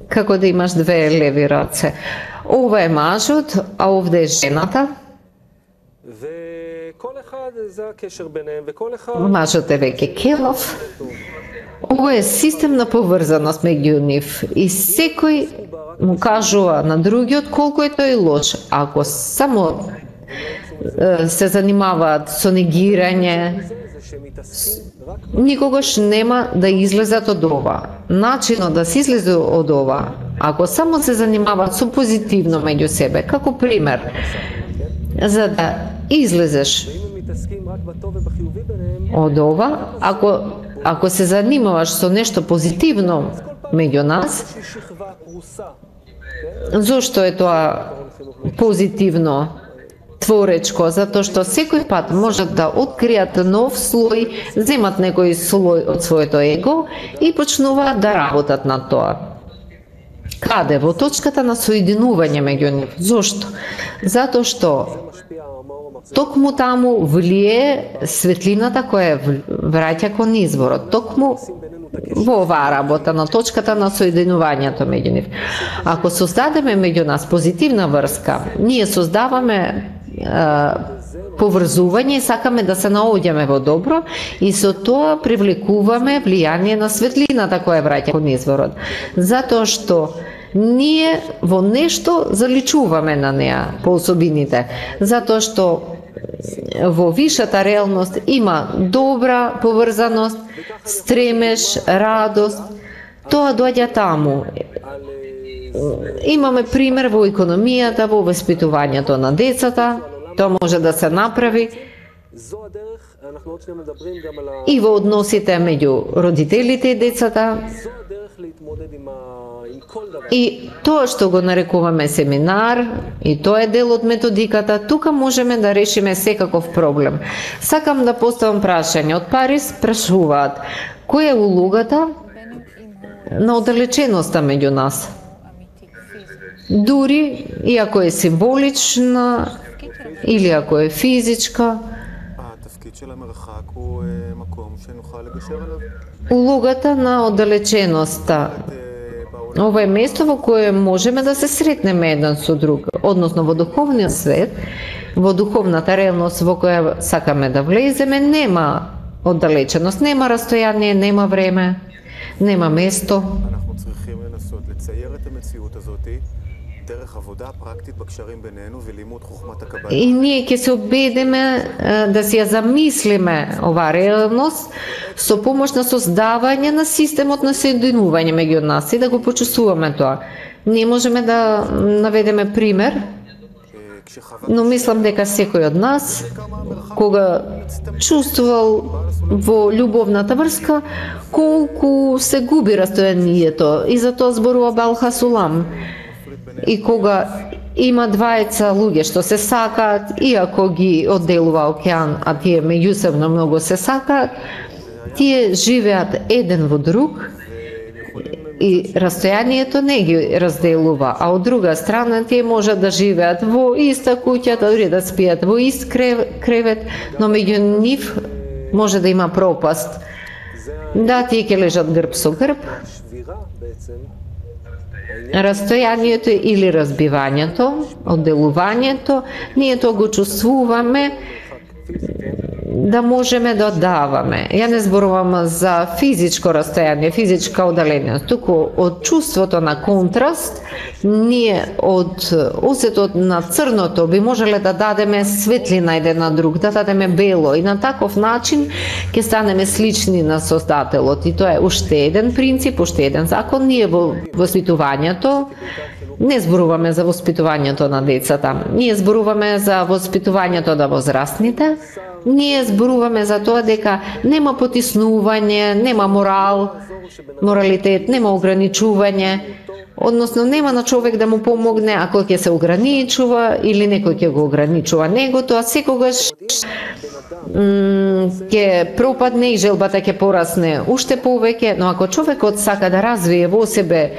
Speaker 5: Како да имаш две леви раце. Ова е мажот, а овде е жената. Мажот е веќе келов. Ова е систем на поврзаност меѓу нив и секој му кажува на другиот колку е тој лош. Ако само се занимаваат со негирање, никогаш нема да излезат од ова. Начинот да се излезе од ова, ако само се занимаваат со позитивно меѓу себе, како пример, за да излезеш од ова, ако се занимаваш со нешто позитивно меѓу нас, зошто е тоа позитивно творечко? Затоа што секој пат можат да откријат нов слој, земат некој слој од своето его и почнуваат да работат на тоа. Каде? Во точката на соединување меѓу нив. Зошто? Затоа што токму таму влие светлината која враќа кон изворот. Токму во оваа работа на точката на соединувањето меѓу нив. Ако создадеме меѓу нас позитивна врска, ние создаваме поврзување и сакаме да се наоѓаме во добро и со тоа привлекуваме влијание на светлината која враќа кон изворот. Затоа што ние во нешто заличуваме на неа по особините, затоа што во вишата реалност има добра поврзаност, стремеж, радост, тоа доаѓа таму. Имаме пример во економијата, во воспитувањето на децата, тоа може да се направи и во односите меѓу родителите и децата. И тоа што го нарекуваме семинар, и тоа е дел од методиката, тука можеме да решиме секаков проблем. Сакам да поставам прашање. Од Париз прашуваат, која е улогата на оддалеченоста меѓу нас? Дури, и ако е символична, или ако е физичка, улогата на оддалеченоста. Ова е место во кое можеме да се сретнеме еден со друг, односно во духовниот свет, во духовната реалност во која сакаме да влеземе, нема оддалеченост, нема растојание, нема време, нема место. И ние ќе се обедиме да си ја замислиме оваа реалност со помош на создавање на системот на соединување меѓу нас и да го почувствуваме тоа. Ние можеме да наведеме пример, но мислам дека секој од нас, кога чувствувал во љубовната врска, колку се губи растојанието, и за тоа зборува Балха Сулам. И кога има двајца луѓе што се сакаат, иако ги одделува океан, а тие меѓусебно многу се сакаат, тие живеат еден во друг, и растојанието не ги разделува, а од друга страна тие можат да живеат во иста куќа, дури да спијат во ист кревет, но меѓу нив може да има пропаст. Да, тие ќе лежат грб со грб. Растојанието или разбивањето, одделувањето, ние тоа го чувствуваме да можеме да даваме. Ја не зборувам за физичко растојание, физичка оддаленост, туку од чувството на контраст, ние од осетот на црното би можеле да дадеме светлина еден на друг, да дадеме бело, и на таков начин ќе станеме слични на Создателот. И тоа е уште еден принцип, уште еден закон. Ние во воспитувањето не зборуваме за воспитувањето на децата, ние зборуваме за воспитувањето на возрастните. Ние зборуваме за тоа дека нема потиснување, нема моралитет, нема ограничување, односно нема на човек да му помогне ако ќе се ограничува или некој ќе го ограничува него, тоа секогаш ќе пропадне и желбата ќе порасне уште повеќе, но ако човекот сака да развие во себе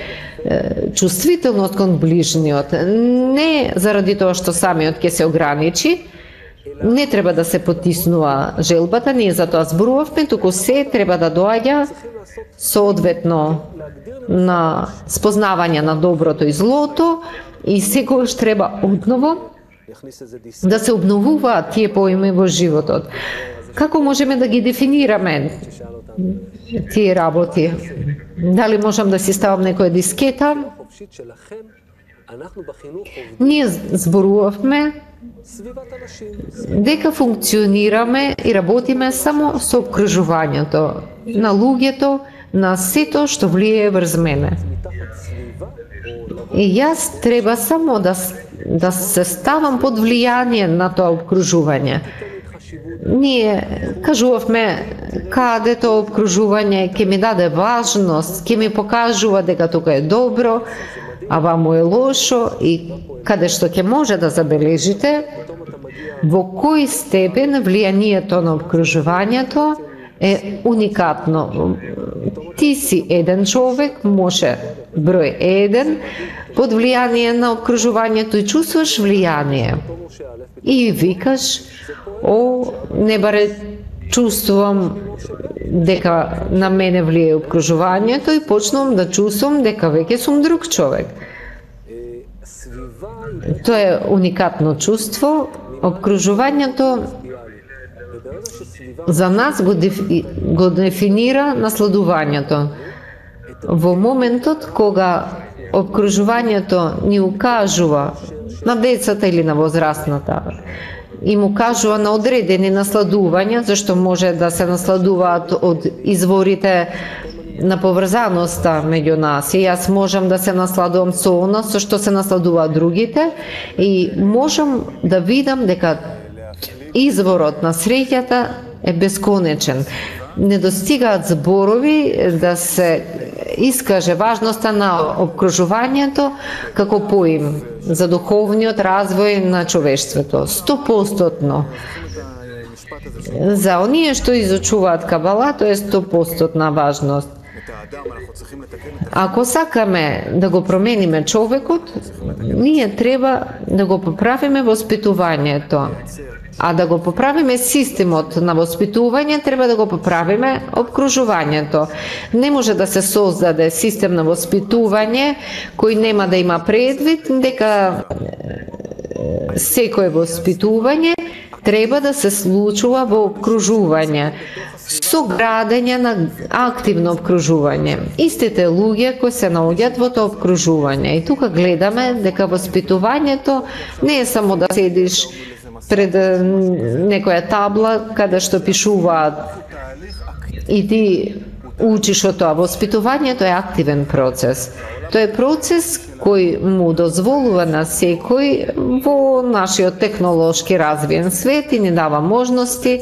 Speaker 5: чувствителност кон ближниот, не заради тоа што самиот ќе се ограничи, не треба да се потиснува желбата, ние за тоа зборувавме, туку се треба да доаѓа соодветно на спознавање на доброто и злото, и секогаш треба одново да се обновуваат тие поими во животот. Како можеме да ги дефинираме тие работи? Дали можам да си ставам некоја дискета? Ние зборувавме дека функционираме и работиме само со обкружувањето на луѓето, на сето што влијае врз мене. И јас треба само да се ставам под влијание на тоа обкружување. Ние кажувавме каде тоа обкружување ќе ми даде важност, ќе ми покажува дека тука е добро, а ваму е лошо, и каде што ќе може да забележите во кој степен влијанието на обкружувањето е уникатно. Ти си еден човек, може број 1, под влијание на обкружувањето и чувствуваш влијание. И викаш, не баре чувствувам дека на мене влијае обкружувањето, и почнувам да чувствувам дека веќе сум друг човек. Тоа е уникатно чувство. Обкружувањето за нас го дефинира насладувањето. Во моментот кога обкружувањето ни укажува на децата или на возрастната, и му кажува на одредени насладувања, зашто може да се насладуваат од изворите на поврзаноста меѓу нас. И јас можам да се насладувам со оно со што се насладуваат другите, и можам да видам дека изворот на среќата е бесконечен. Не достигаат зборови да се искаже важноста на обкружувањето како поим за духовниот развој на човештвото. 100%. За оние што изучуваат Кабала, тоа е 100% важност. Ако сакаме да го промениме човекот, ние треба да го поправиме воспитувањето. А да го поправиме системот на воспитување, треба да го поправиме обкружувањето. Не може да се создаде систем на воспитување кој нема да има предвид дека секое воспитување треба да се случува во обкружување со градење на активно обкружување. Истите луѓе кои се наоѓаат во тоа обкружување. И тука гледаме дека воспитувањето не е само да седиш пред некоја табла каде што пишуваат и ти учиш од тоа. Воспитувањето е активен процес. Тоа е процес кој му дозволува на секој во нашиот технолошки развиен свет и ни дава можности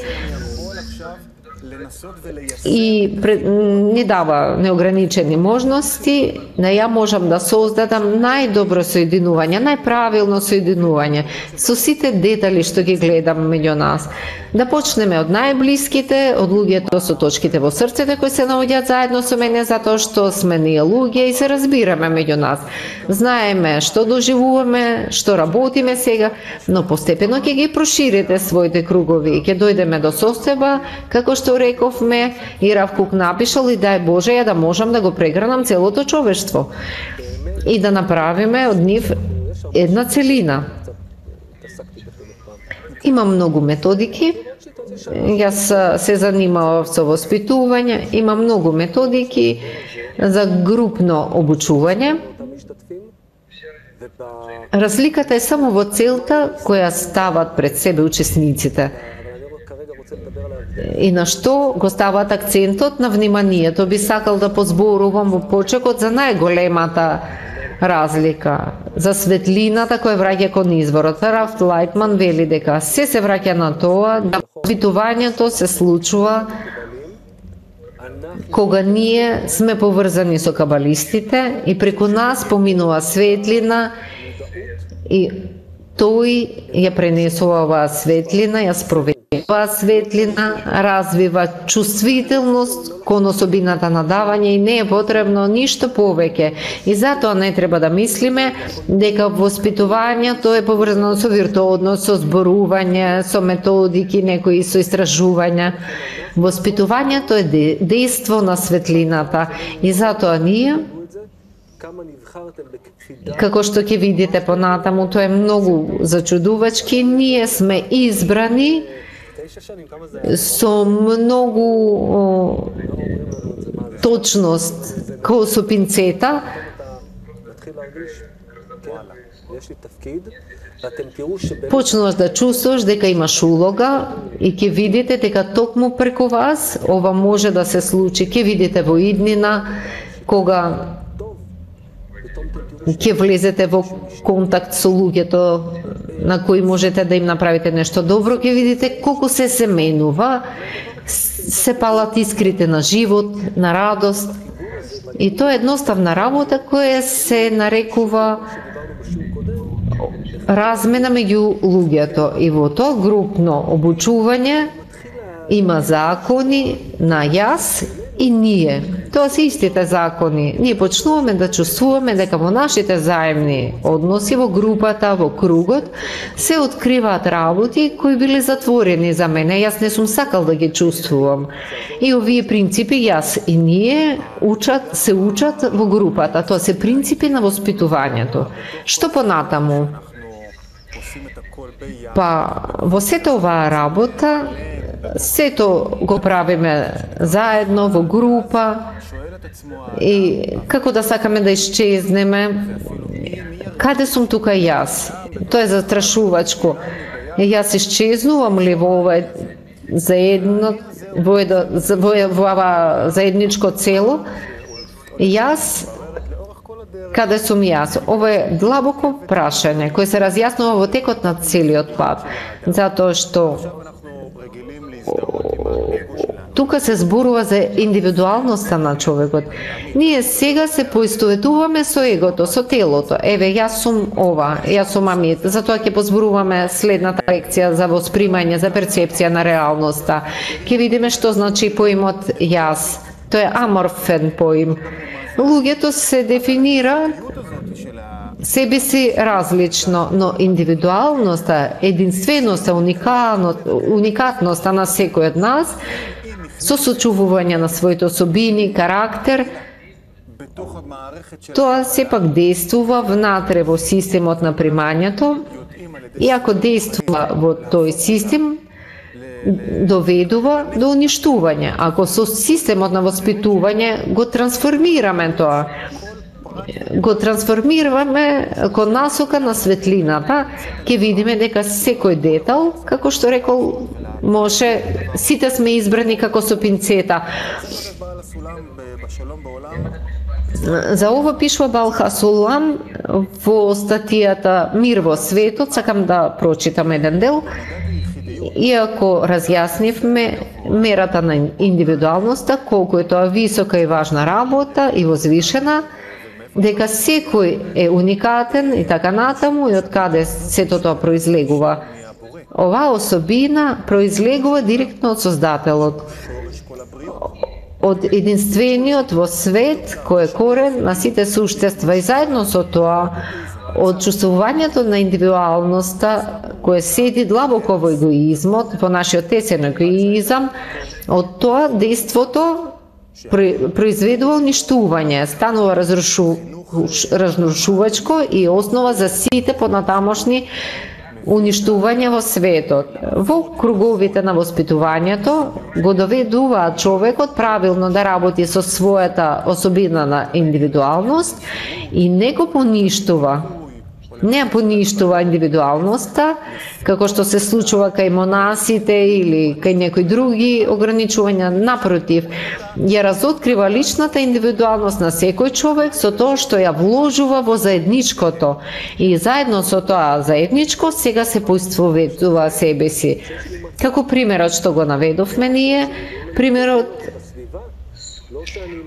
Speaker 5: и ни дава неограничени можности, да ја можам да создадам најдобро соединување, најправилно соединување со сите детали што ги гледам меѓу нас. Да почнеме од најблиските, од луѓето со точките во срцето кои се наоѓаат заедно со мене затоа што сме ние луѓе и се разбираме меѓу нас. Знаеме што доживуваме, што работиме сега, но постепено ќе ги проширите своите кругови и ќе дојдеме до состојба како што рековме и Рав Кук напишал и дај Боже ја да можам да го прегранам целото човештво и да направиме од нив една целина. Има многу методики. Јас се занимавав со воспитување. Има многу методики за групно обучување. Разликата е само во целта која стават пред себе учесниците. И на што го стават акцентот на вниманието. Би сакал да позборувам во почекот за најголемата разлика, за светлината која враќа кон изворот. Раф Лайтман вели дека се враќа на тоа да воспитувањето се случува кога ние сме поврзани со кабалистите и преку нас поминува светлина и тој ја пренесува оваа светлина, ја спроведува оваа светлина, развива чувствителност кон особината на давање и не е потребно ништо повеќе. И затоа не треба да мислиме дека воспитувањето е поврзано со виртуозност, со зборување, со методики, некои со истражувања. Воспитувањето е дејство на светлината и затоа ние, како што ќе видите понатаму, тоа е многу зачудувачки, ние сме избрани со многу точност, како со пинцета. Почнуваш да чувствуваш дека имаш улога и ќе видите дека токму преку вас ова може да се случи. Ќе видите во иднина кога ќе влезете во контакт со луѓето на кои можете да им направите нешто добро, ќе видите колку се менува, се палат искрите на живот, на радост. И тоа е едноставна работа која се нарекува размена меѓу луѓето. И во тоа групно обучување има закони на јас и ние. Тоа се истите закони. Ние почнуваме да чувствуваме дека во нашите заемни односи, во групата, во кругот, се откриваат работи кои биле затворени за мене. Јас не сум сакал да ги чувствувам. И овие принципи, јас и ние, се учат во групата. Тоа се принципи на воспитувањето. Што понатаму? Па, во сето оваа работа, сето го правиме заедно, во група, и како да сакаме да исчезнеме, каде сум тука јас? Тоа е застрашувачко. Јас исчезнувам ли во ова во ова заедничко цело? Јас, каде сум јас? Ова е длабоко прашање, кој се разјаснува во текот на целиот пат, затоа што тука се зборува за индивидуалноста на човекот. Ние сега се поистоветуваме со егото, со телото. Еве, јас сум ова, јас сум Амит. Затоа ќе позборуваме следната лекција за воспримање, за перцепција на реалноста. Ќе видиме што значи поимот јас. Тоа е аморфен поим. Луѓето се дефинира себе си различно, но индивидуалноста, единственоста, уникатноста на секој од нас, со сочувување на своите особини, карактер, тоа сепак действува внатре во системот на примањето и ако действува во тој систем, доведува до уништување. Ако со системот на воспитување го трансформираме тоа, го трансформираме кон насока на светлината, ќе видиме дека секој детал, како што рекол, може, сите сме избрани како со пинцета. За ова пишува Баал Хасулам во статијата Мир во светот, сакам да прочитам еден дел. Иако разјаснивме мерата на индивидуалноста, колку е тоа висока и важна работа и возвишена, дека секој е уникатен и така натаму и од каде сето тоа произлегува. Оваа особина произлегува директно од Создателот, од единствениот во свет кој е корен на сите суштества и заедно со тоа од чувствувањето на индивидуалноста кој седи длабоко во егоизмот, во нашиот тесен егоизам, од тоа дејството произведува уништување, станува разрушувачко и основа за сите понатамошни уништување во светот. Во круговите на воспитувањето го доведуваат човекот правилно да работи со својата особина на индивидуалност и не го поништува. Не поништува индивидуалноста, како што се случува кај монасите или кај некои други ограничувања, напротив, ја разоткрива личната индивидуалност на секој човек со тоа што ја вложува во заедничкото и заедно со тоа заедничко сега се поистоветува себе си. Како примерот што го наведовме ние, примерот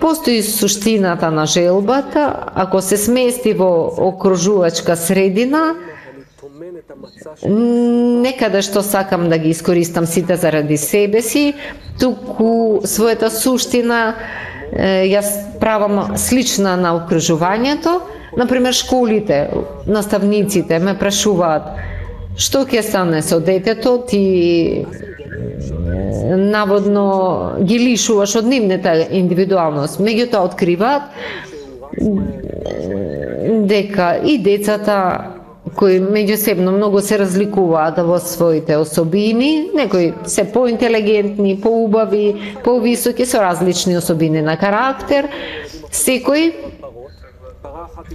Speaker 5: постои суштината на желбата, ако се смести во окружувачка средина, некаде што сакам да ги искористам сите заради себе си, туку својата суштина ја правам слична на окружувањето. Например, школите, наставниците ме прашуваат што ќе стане со детето, ти наводно ги лишуваш од нивната индивидуалност. Меѓутоа откриваат дека и децата кои меѓусебно многу се разликуваат во своите особини, некои се поинтелигентни, поубави, повисоки, со различни особини на карактер, секој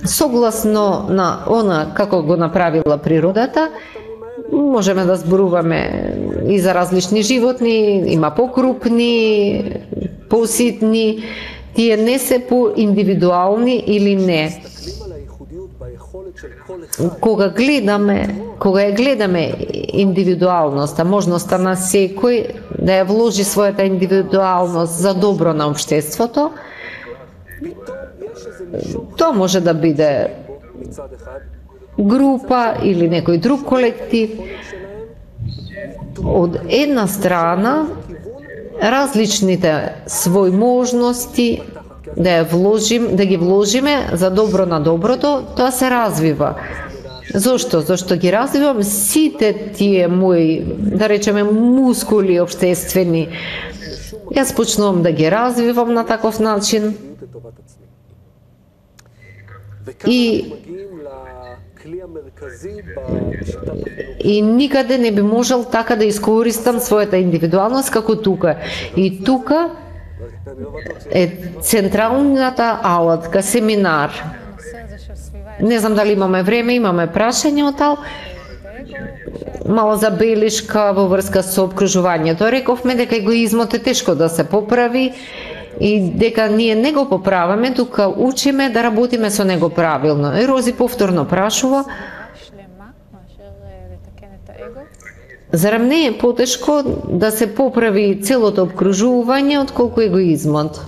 Speaker 5: согласно на она како го направила природата. Можеме да зборуваме и за различни животни, има покрупни, поситни, тие не се поиндивидуални или не. Кога ја гледаме индивидуалноста, можноста на секој да ја вложи својата индивидуалност за добро на општеството, тоа може да биде група или некој друг колектив. Од една страна, различните своји можности да ги вложиме за добро на доброто, тоа се развива. Зошто? Зошто ги развивам сите тие мои, да речеме, мускули општествени. Јас почнувам да ги развивам на таков начин. И никаде не би можел така да искористам својата индивидуалност како тука. И тука е централната алатка, семинар. Не знам дали имаме време, имаме прашање од тал. Мала забелишка во врска со обкружувањето. Рековме дека егоизмот е тешко да се поправи и дека ние не го поправаме, тука учиме да работиме со него правилно. Рози повторно прашува: зарем не е потешко да се поправи целото обкружување отколку егоизмот?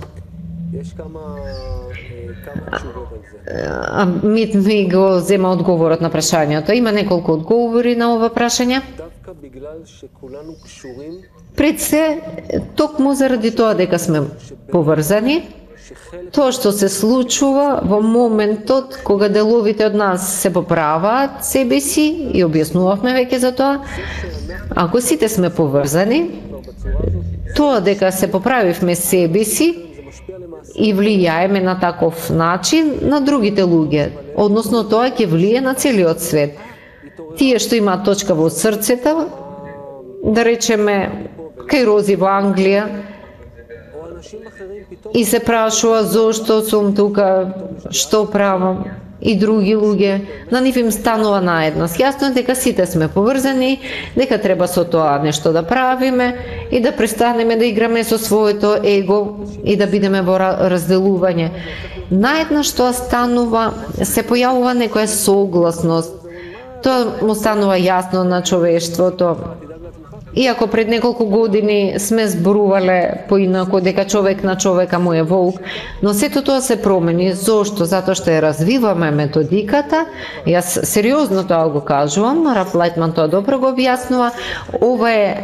Speaker 5: Мит ми го зема одговорот на прашањето. Има неколку одговори на ова прашање. Пред се, токму заради тоа дека сме поврзани, тоа што се случува во моментот кога деловите од нас се поправаат себе си, и објаснувавме веќе за тоа, ако сите сме поврзани, тоа дека се поправивме себе си и влијаеме на таков начин на другите луѓе, односно тоа ќе влие на целиот свет. Тие што имаат точка во срцето, да речеме, кај Рози во Англија и се прашува зошто сум тука, што правам, и други луѓе, на нив им станува наедност. Јасно е дека сите сме поврзани, дека треба со тоа нешто да правиме и да престанеме да играме со своето его и да бидеме во разделување. Наеднаш тоа станува, се појавува некоја согласност. Тоа му станува јасно на човештвото. Иако пред неколку години сме зборувале поинако дека човек на човека му е волк, но сето тоа се промени. Зошто? Затоа што ја развиваме методиката. Јас сериозно тоа го кажувам, Раф Лајтман тоа добро го објаснува. Ова е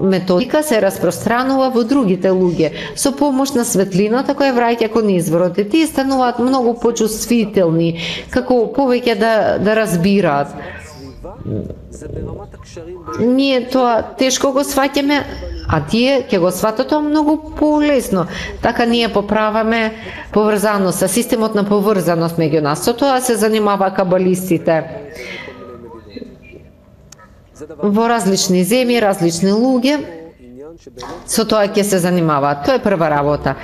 Speaker 5: методика се распространува во другите луѓе со помош на светлината која враќа кон изворот. И тие стануваат многу почувствителни, како повеќе да разбираат. Ние тоа тешко го сваќаме, а тие ќе го сватат тоа многу полесно. Така ние поправаме поврзаноста, системот на поврзаност меѓу нас. Со тоа се занимава кабалистите. Во различни земји, различни луѓе, со тоа ќе се занимаваат. Тоа е прва работа.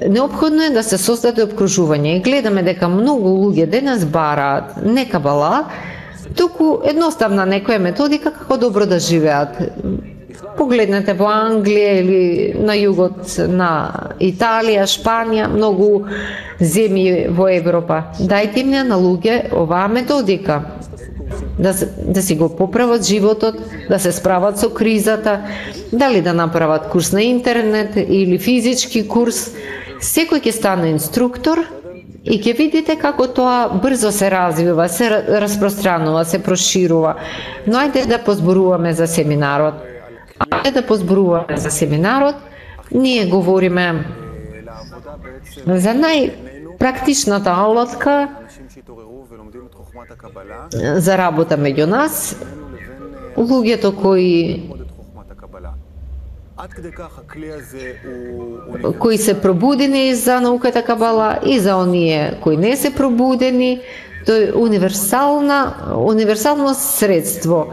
Speaker 5: Неопходно е да се создаде обкружување и гледаме дека многу луѓе денес бараат не кабала, туку едноставна некоја методика како добро да живеат. Погледнете во Англија или на југот на Италија, Шпанија, многу земји во Европа. Дајте им на луѓе оваа методика. Да си го поправат животот, да се справат со кризата, дали да направат курс на интернет или физички курс. Секој ќе стане инструктор и ќе видите како тоа брзо се развива, се распространува, се проширува. Но ајде да позборуваме за семинарот. Ние говориме за најпрактичната алатка за работа меѓу нас, луѓето кои се пробудени за науката кабала и за оние кои не се пробудени. Тоа е универсално средство.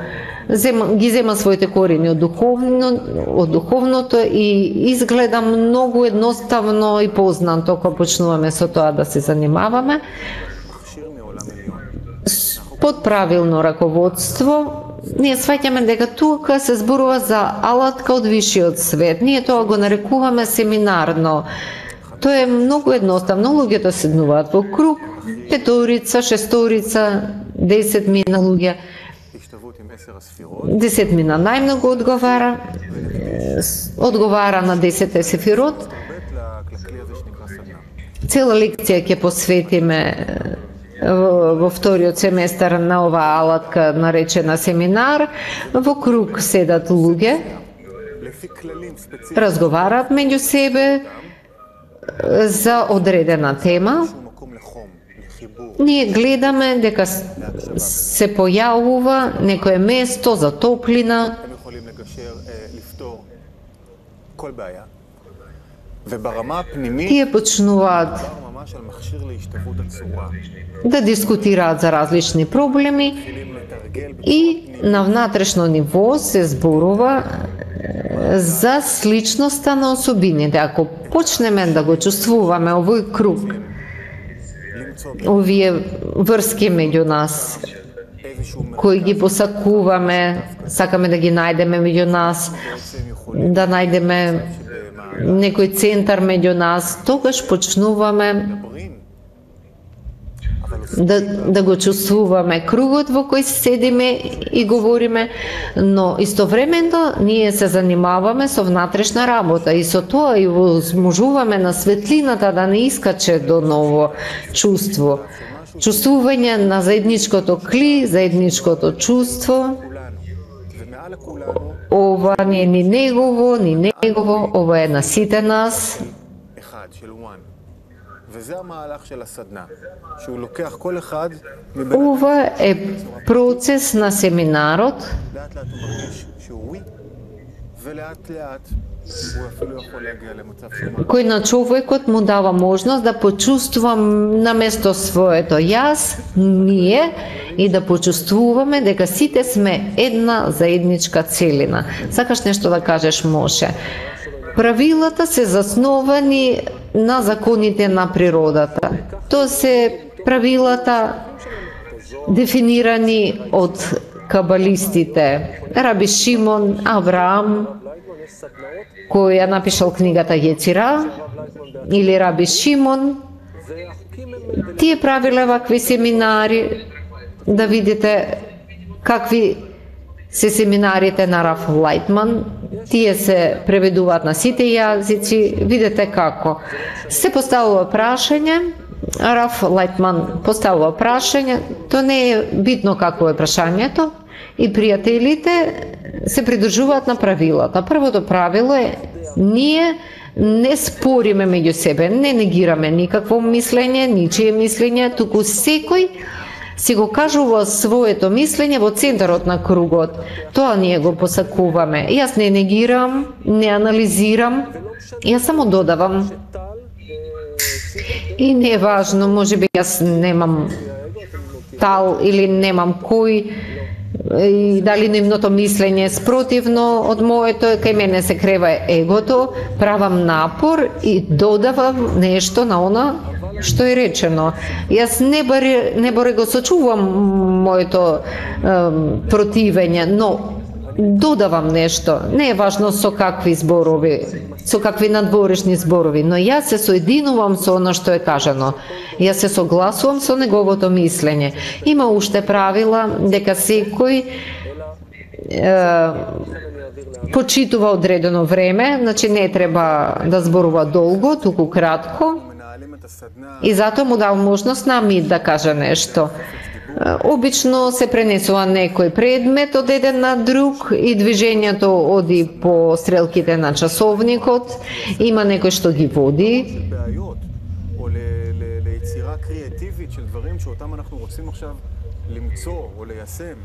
Speaker 5: Ги зема своите корени од духовното и изгледа многу едноставно и познато кога почнуваме со тоа да се занимаваме. Под правилно раководство, ние сваќаме дека тука се зборува за алатка од висшиот свет. Ние тоа го нарекуваме семинарно. Тоа е многу едноставно. Луѓето седнуваат во круг, петорица, шесторица, 10 мина луѓе. 10 мина најмногу одговара на 10 сефирот. Цела лекција ќе посветиме во вториот семестар на оваа алатка наречена семинар. Во круг седат луѓе, разговараат меѓу себе за одредена тема. Ние гледаме дека се појавува некое место за топлина. Тие почнуваат да дискутираат за различни проблеми и на внатрешно ниво се зборува за сличноста на особините. Ако почнеме да го чувствуваме овој круг, овие врски меѓу нас, кои ги посакуваме, сакаме да ги најдеме меѓу нас, да најдеме некој центар меѓу нас, тогаш почнуваме да го чувствуваме кругот во кој седиме и говориме, но истовремено ние се занимаваме со внатрешна работа и со тоа и возможуваме на светлината да не искаче до ново чувство. Чувствување на заедничкото кли, заедничкото чувство. Ова не е ни негово, ова е на сите нас. Ова е процес на семинарот
Speaker 3: ולאט לאט הוא אפילו יכול להגיע למצב שהוא
Speaker 5: кој на човекот му дава можност да почувствува на место своето јас, ние, и да почувствуваме дека сите сме една заедничка целина. Сакаш нешто да кажеш, Моше? Правилата се засновани на законите на природата. Тоа се правилата дефинирани од кабалистите. Раби Шимон, Авраам, кој ја напишал книгата Јецира, или Раби Шимон, тие правиле вакви семинари, да видите какви се семинарите на Раф Лајтман, тие се преведуваат на сите јазици, видите како. Се поставува прашање, Раф Лајтман поставува прашање, то не е битно какво е прашањето, и пријателите се придржуваат на правилата. Првото правило е, ние не спориме меѓу себе, не негираме никакво мислење, ничие мислење, туку секој си го кажува своето мислење во центарот на кругот. Тоа ние го посакуваме. Јас не негирам, не анализирам, јас само додавам. И не е важно, може би јас немам тал или немам кој, и дали нивното мислење е спротивно од моето, кај мене се крева егото, правам напор и додавам нешто на она што е речено. Јас не баре го сочувам моето противење, но додавам нешто. Не е важно со какви зборови, со какви надворешни зборови, но јас се соединувам со оно што е кажано. Јас се согласувам со неговото мислење. Има уште правила дека секој почитува одредено време, значи не треба да зборува долго, туку кратко. И затоа му дал можност на Амид да каже нешто. Обично се пренесува некој предмет од еден на друг и движењето оди по стрелките на часовникот. Има некој што ги води.
Speaker 3: או ליצירה קריאטיבית של דברים שאותם אנחנו רוצים עכשיו למצוא או ליישם.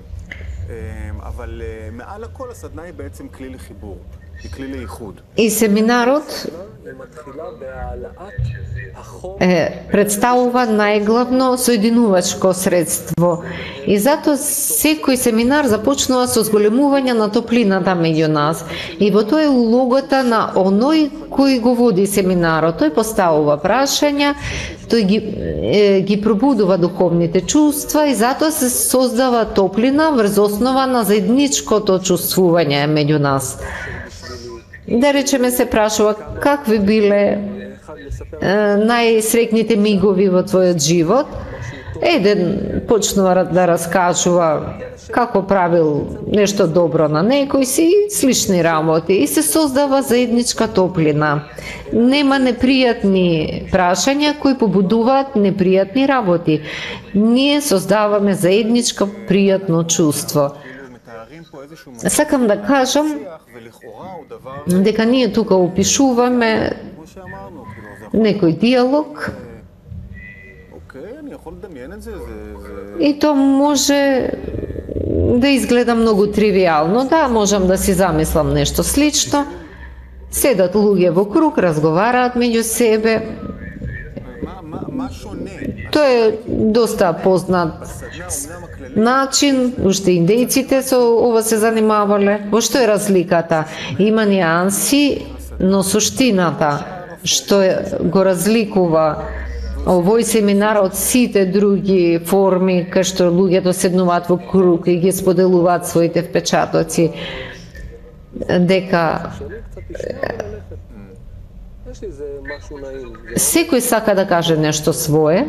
Speaker 3: אבל מעל הכל הסדנה היא בעצם כלי לחיבור, היא כלי לייחוד.
Speaker 5: И семинарот представува најглавно соединувачко средство. И затоа секој семинар започнува со зголемување на топлината меѓу нас. И во тоа е улогата на оној кој го води семинарот. Тој поставува прашања, тој ги пробудува духовните чувства и затоа се создава топлина врз основа на заедничкото чувствување меѓу нас. Да речеме, се прашува какви биле најсрекните мигови во твојот живот. Еден почнува да раскажува како правил нешто добро на некој си, слични работи, и се создава заедничка топлина. Нема непријатни прашања кои побудуваат непријатни работи. Ние создаваме заедничко пријатно чувство. Сакам да кажам дека ние тука опишуваме некој диалог и то може да изгледа многу тривијално. Да, можам да си замислам нешто слично. Седат луѓе во круг, разговараат меѓу себе. Тоа е доста познат начин, уште индејците со ова се занимавале. Во што е разликата? Има нијанси, но суштината што го разликува овој семинар од сите други форми кај што луѓето седнуваат во круг и ги споделуваат своите впечатоци, дека секој сака да каже нешто свое.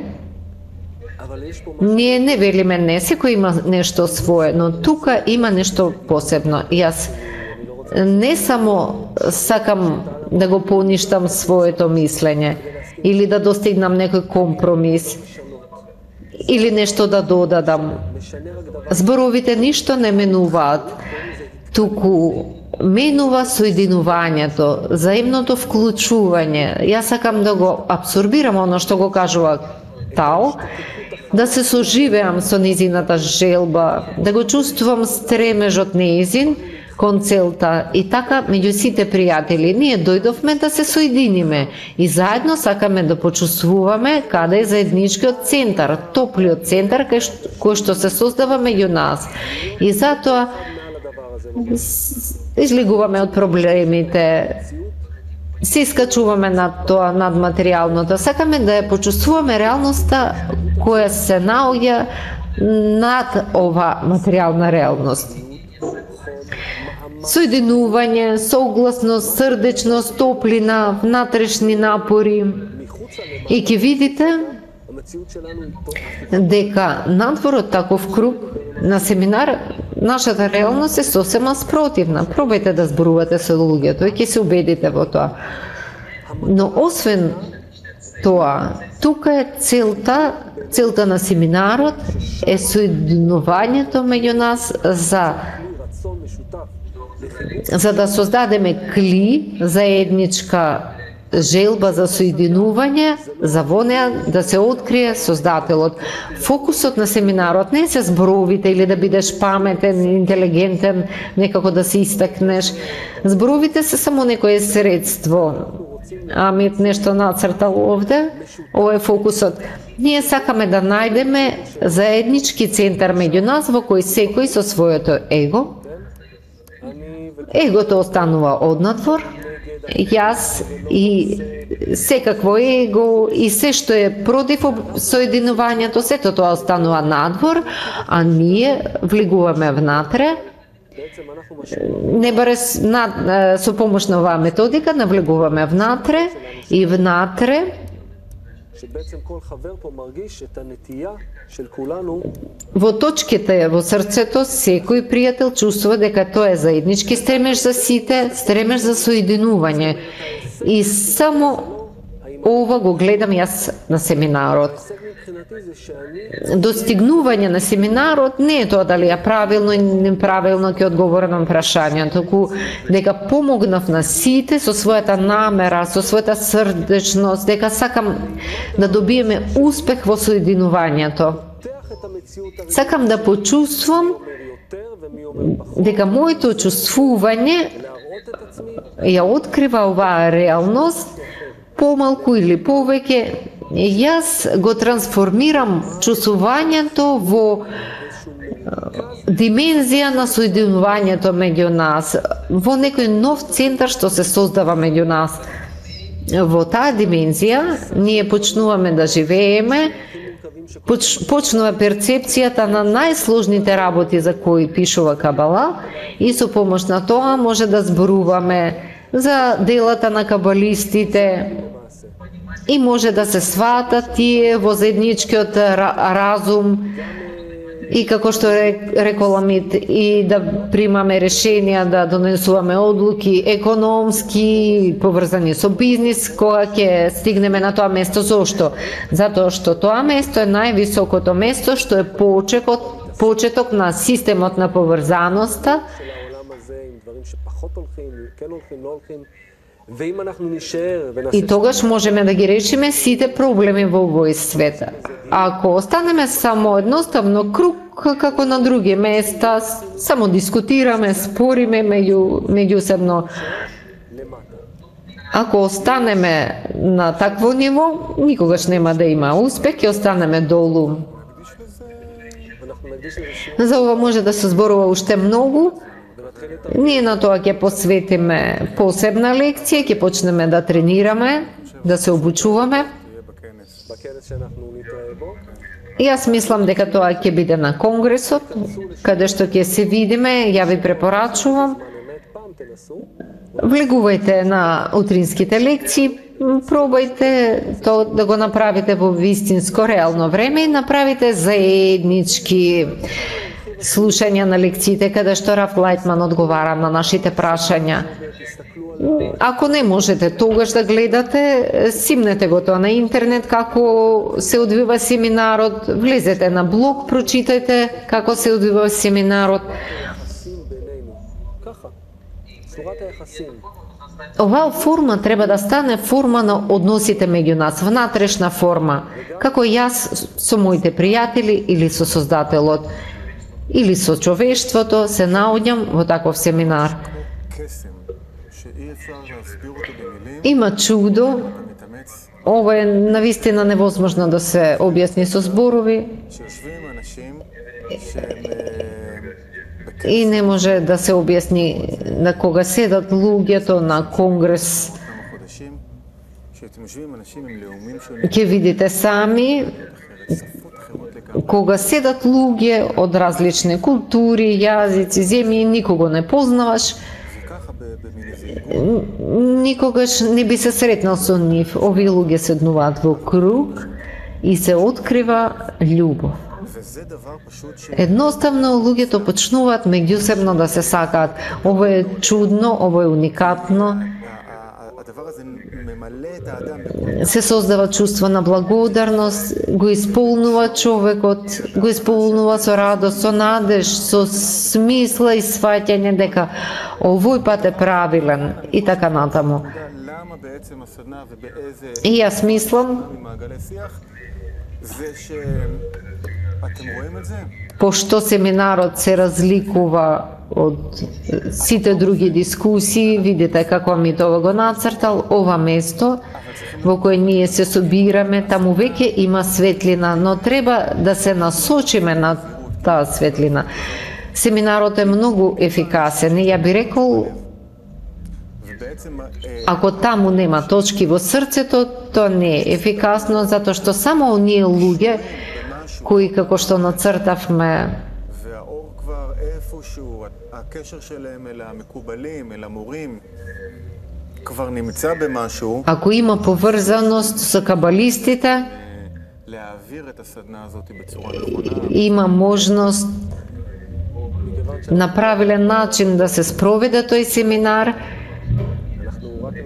Speaker 5: Ние не велиме не, секој има нешто свое, но тука има нешто посебно. Јас не само сакам да го поништам своето мислење или да достигнам некој компромис или нешто да додадам. Зборовите ништо не менуваат, туку менува соединувањето, заемното вклучување. Јас сакам да го абсорбирам оно што го кажува Тао, да се соживеам со незината желба, да го чувствувам стремежот неизин, кон целта. И така, меѓу сите пријатели, ние дојдовме да се соединиме и заедно сакаме да почувствуваме каде е заедничкиот центар, топлиот центар кој што се создава меѓу нас. И затоа излегуваме од проблемите, се искачуваме над тоа, над материјалното. Сакаме да ја почувствуваме реалноста која се наоѓа над ова материјална реалност. Соединување, согласност, срдечност, топлина, внатрешни напори. И ќе видите дека надвор од таков круг на семинар нашата реалност е сосема спротивна. Пробајте да зборувате со луѓето и ќе се убедите во тоа. Но освен тоа, тука е целта на семинарот е соединувањето меѓу нас за да создадеме кли, заедничка желба за соединување, за во неа да се открие Создателот. Фокусот на семинарот не се зборовите или да бидеш паметен, интелигентен, некако да се истакнеш. Зборовите се само некое средство. Амит нешто нацртал овде, ова е фокусот. Ние сакаме да најдеме заеднички центар меѓу нас во кој секој со своето егото останува однадвор, јас и секакво его и се што е против соединувањето, сето тоа останува надвор, а ние влегуваме внатре. Не баре со помош на оваа методика навлегуваме внатре и внатре во точките во срцето секој пријател чувствува дека тоа е заеднички стремеж за сите, стремеж за соединување. И само ова го гледам јас на семинарот. Достигнување на семинарот не е тоа дали ја правилно или неправилно ќе одговорам на прашањето, туку дека помогнав на сите со својата намера, со својата срдечност, дека сакам да добиеме успех во соединувањето. Сакам да почувствувам дека моето чувствување ја открива оваа реалност помалку или повеќе. Јас го трансформирам чувствувањето во димензија на соединувањето меѓу нас, во некој нов центар што се создава меѓу нас. Во таа димензија ние почнуваме да живееме, почнува перцепцијата на најсложните работи за кои пишува Кабала и со помош на тоа може да зборуваме за делата на кабалистите и може да се сватат тие во заедничкиот разум и како што рекол Амит и да примаме решенија, да донесуваме одлуки економски, поврзани со бизнис, кога ќе стигнеме на тоа место. Зошто? Затоа што тоа место е највисокото место, што е почеток на системот на поврзаноста. И тогаш можеме да ги решиме сите проблеми во овој свет. Ако останеме само едноставно круг како на други места, само дискутираме, спориме меѓусебно. Ако останеме на такво ниво, никогаш нема да има успех, ќе останеме долу. За ова може да се зборува уште многу. Ние на тоа ќе посветиме посебна лекција, ќе почнеме да тренираме, да се обучуваме. Јас мислам дека тоа ќе биде на конгресот, каде што ќе се видиме, ја ви препорачувам. Влегувајте на утринските лекции, пробајте тоа да го направите во вистинско реално време и направите заеднички слушање на лекциите каде што Раф Лајтман одговара на нашите прашања. Ако не можете тогаш да гледате, симнете го тоа на интернет како се одвива семинарот, влезете на блог, прочитајте како се одвива семинарот. Оваа форма треба да стане форма на односите меѓу нас, внатрешна форма, како јас со моите пријатели или со Создателот. или со човештвото се наоѓам во таков семинар.
Speaker 3: קסם שאי אפשר להסביר אותו במילים,
Speaker 5: Има чудо,
Speaker 3: אתה מתאמץ,
Speaker 5: ова е навистина невозможно да се објасни со зборови
Speaker 3: שיושבים אנשים שהם
Speaker 5: и не може да се објасни на кога седат луѓето на конгрес.
Speaker 3: כמה חודשים, שאתם יושבים אנשים עם לאומים שונים,
Speaker 5: Ќе видите сами,
Speaker 3: שפות אחרות לגמרי,
Speaker 5: кога седат луѓе од различни култури, јазици, земји, никого не познаваш,
Speaker 3: וככה במין איזה עיגול,
Speaker 5: никогаш не би се сретнал со нив. Овие луѓе седнуваат во круг и се открива љубов.
Speaker 3: וזה דבר פשוט ש...
Speaker 5: Едноставно луѓето почнуваат меѓусебно да се сакаат. Ова е чудно, ова е уникатно.
Speaker 3: הדבר הזה ממלא את האדם בכל
Speaker 5: Се создава чувство на благодарност, го исполнува човекот, го исполнува со радост, со надеж, со смисла и сваќање дека овој пат е правилен и така натаму.
Speaker 3: למה בעצם הסדנה ובאיזה
Speaker 5: И јас мислам,
Speaker 3: ממעגלי שיח זה שאתם רואים את זה?
Speaker 5: пошто семинарот се разликува од сите други дискусии, видите како Митова го нацртал, ова место во кое ние се собираме, таму веќе има светлина, но треба да се насочиме на таа светлина. Семинарот е многу ефикасен и ја би рекол,
Speaker 3: ובעצם
Speaker 5: ако таму нема точки во срцето, тоа не е ефикасно, затоа што само оние луѓе кои како што нацртавме
Speaker 3: והאור כבר איפשהו, הקשר שלהם אל המקובלים, אל המורים, כבר נמצא במשהו,
Speaker 5: ако има поврзаност со кабалистите,
Speaker 3: להעביר את הסדנה הזאת בצורה נכונה.
Speaker 5: има можност на правилен начин да се спроведе тој семинар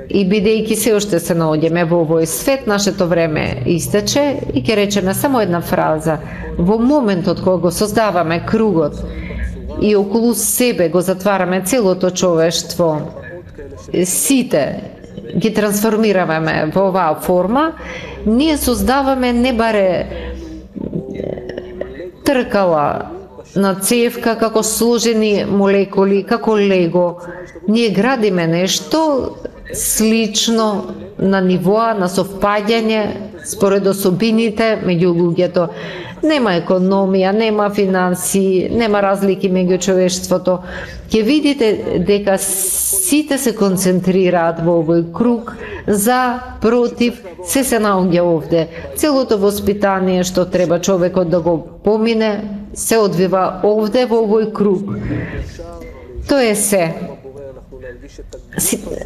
Speaker 5: и бидејќи се уште се наоѓаме во овој свет, нашето време истече и ќе речеме само една фраза. Во моментот кога го создаваме кругот и околу себе го затвараме целото човештво, сите ги трансформираме во оваа форма, ние создаваме не баре тркала на цевка како сложени молекули, како лего. Ние градиме нешто слично на нивоа на совпаѓање според особините меѓу луѓето. Нема економија, нема финансии, нема разлики меѓу човештвото. Ќе видите дека сите се концентрираат во овој круг, за, против, се наоѓа овде. Целото воспитание што треба човекот да го помине, се одвива овде во овој круг. Тоа е се.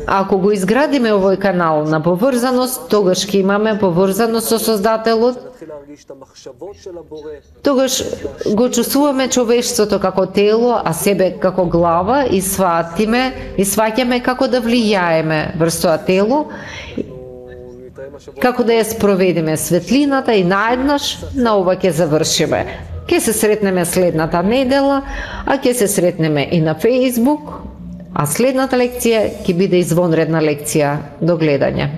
Speaker 5: Ако го изградиме овој канал на поврзаност, тогаш ќе имаме поврзаност со Создателот, тогаш го чувствуваме човештвото како тело, а себе како глава и сваќаме како да влијаеме врз тоа тело, како да ја спроведиме светлината и наеднаш на ова ќе завршиме. Ќе се сретнеме следната недела, а ќе се сретнеме и на Facebook, а следната лекција ќе биде извонредна лекција. До гледање.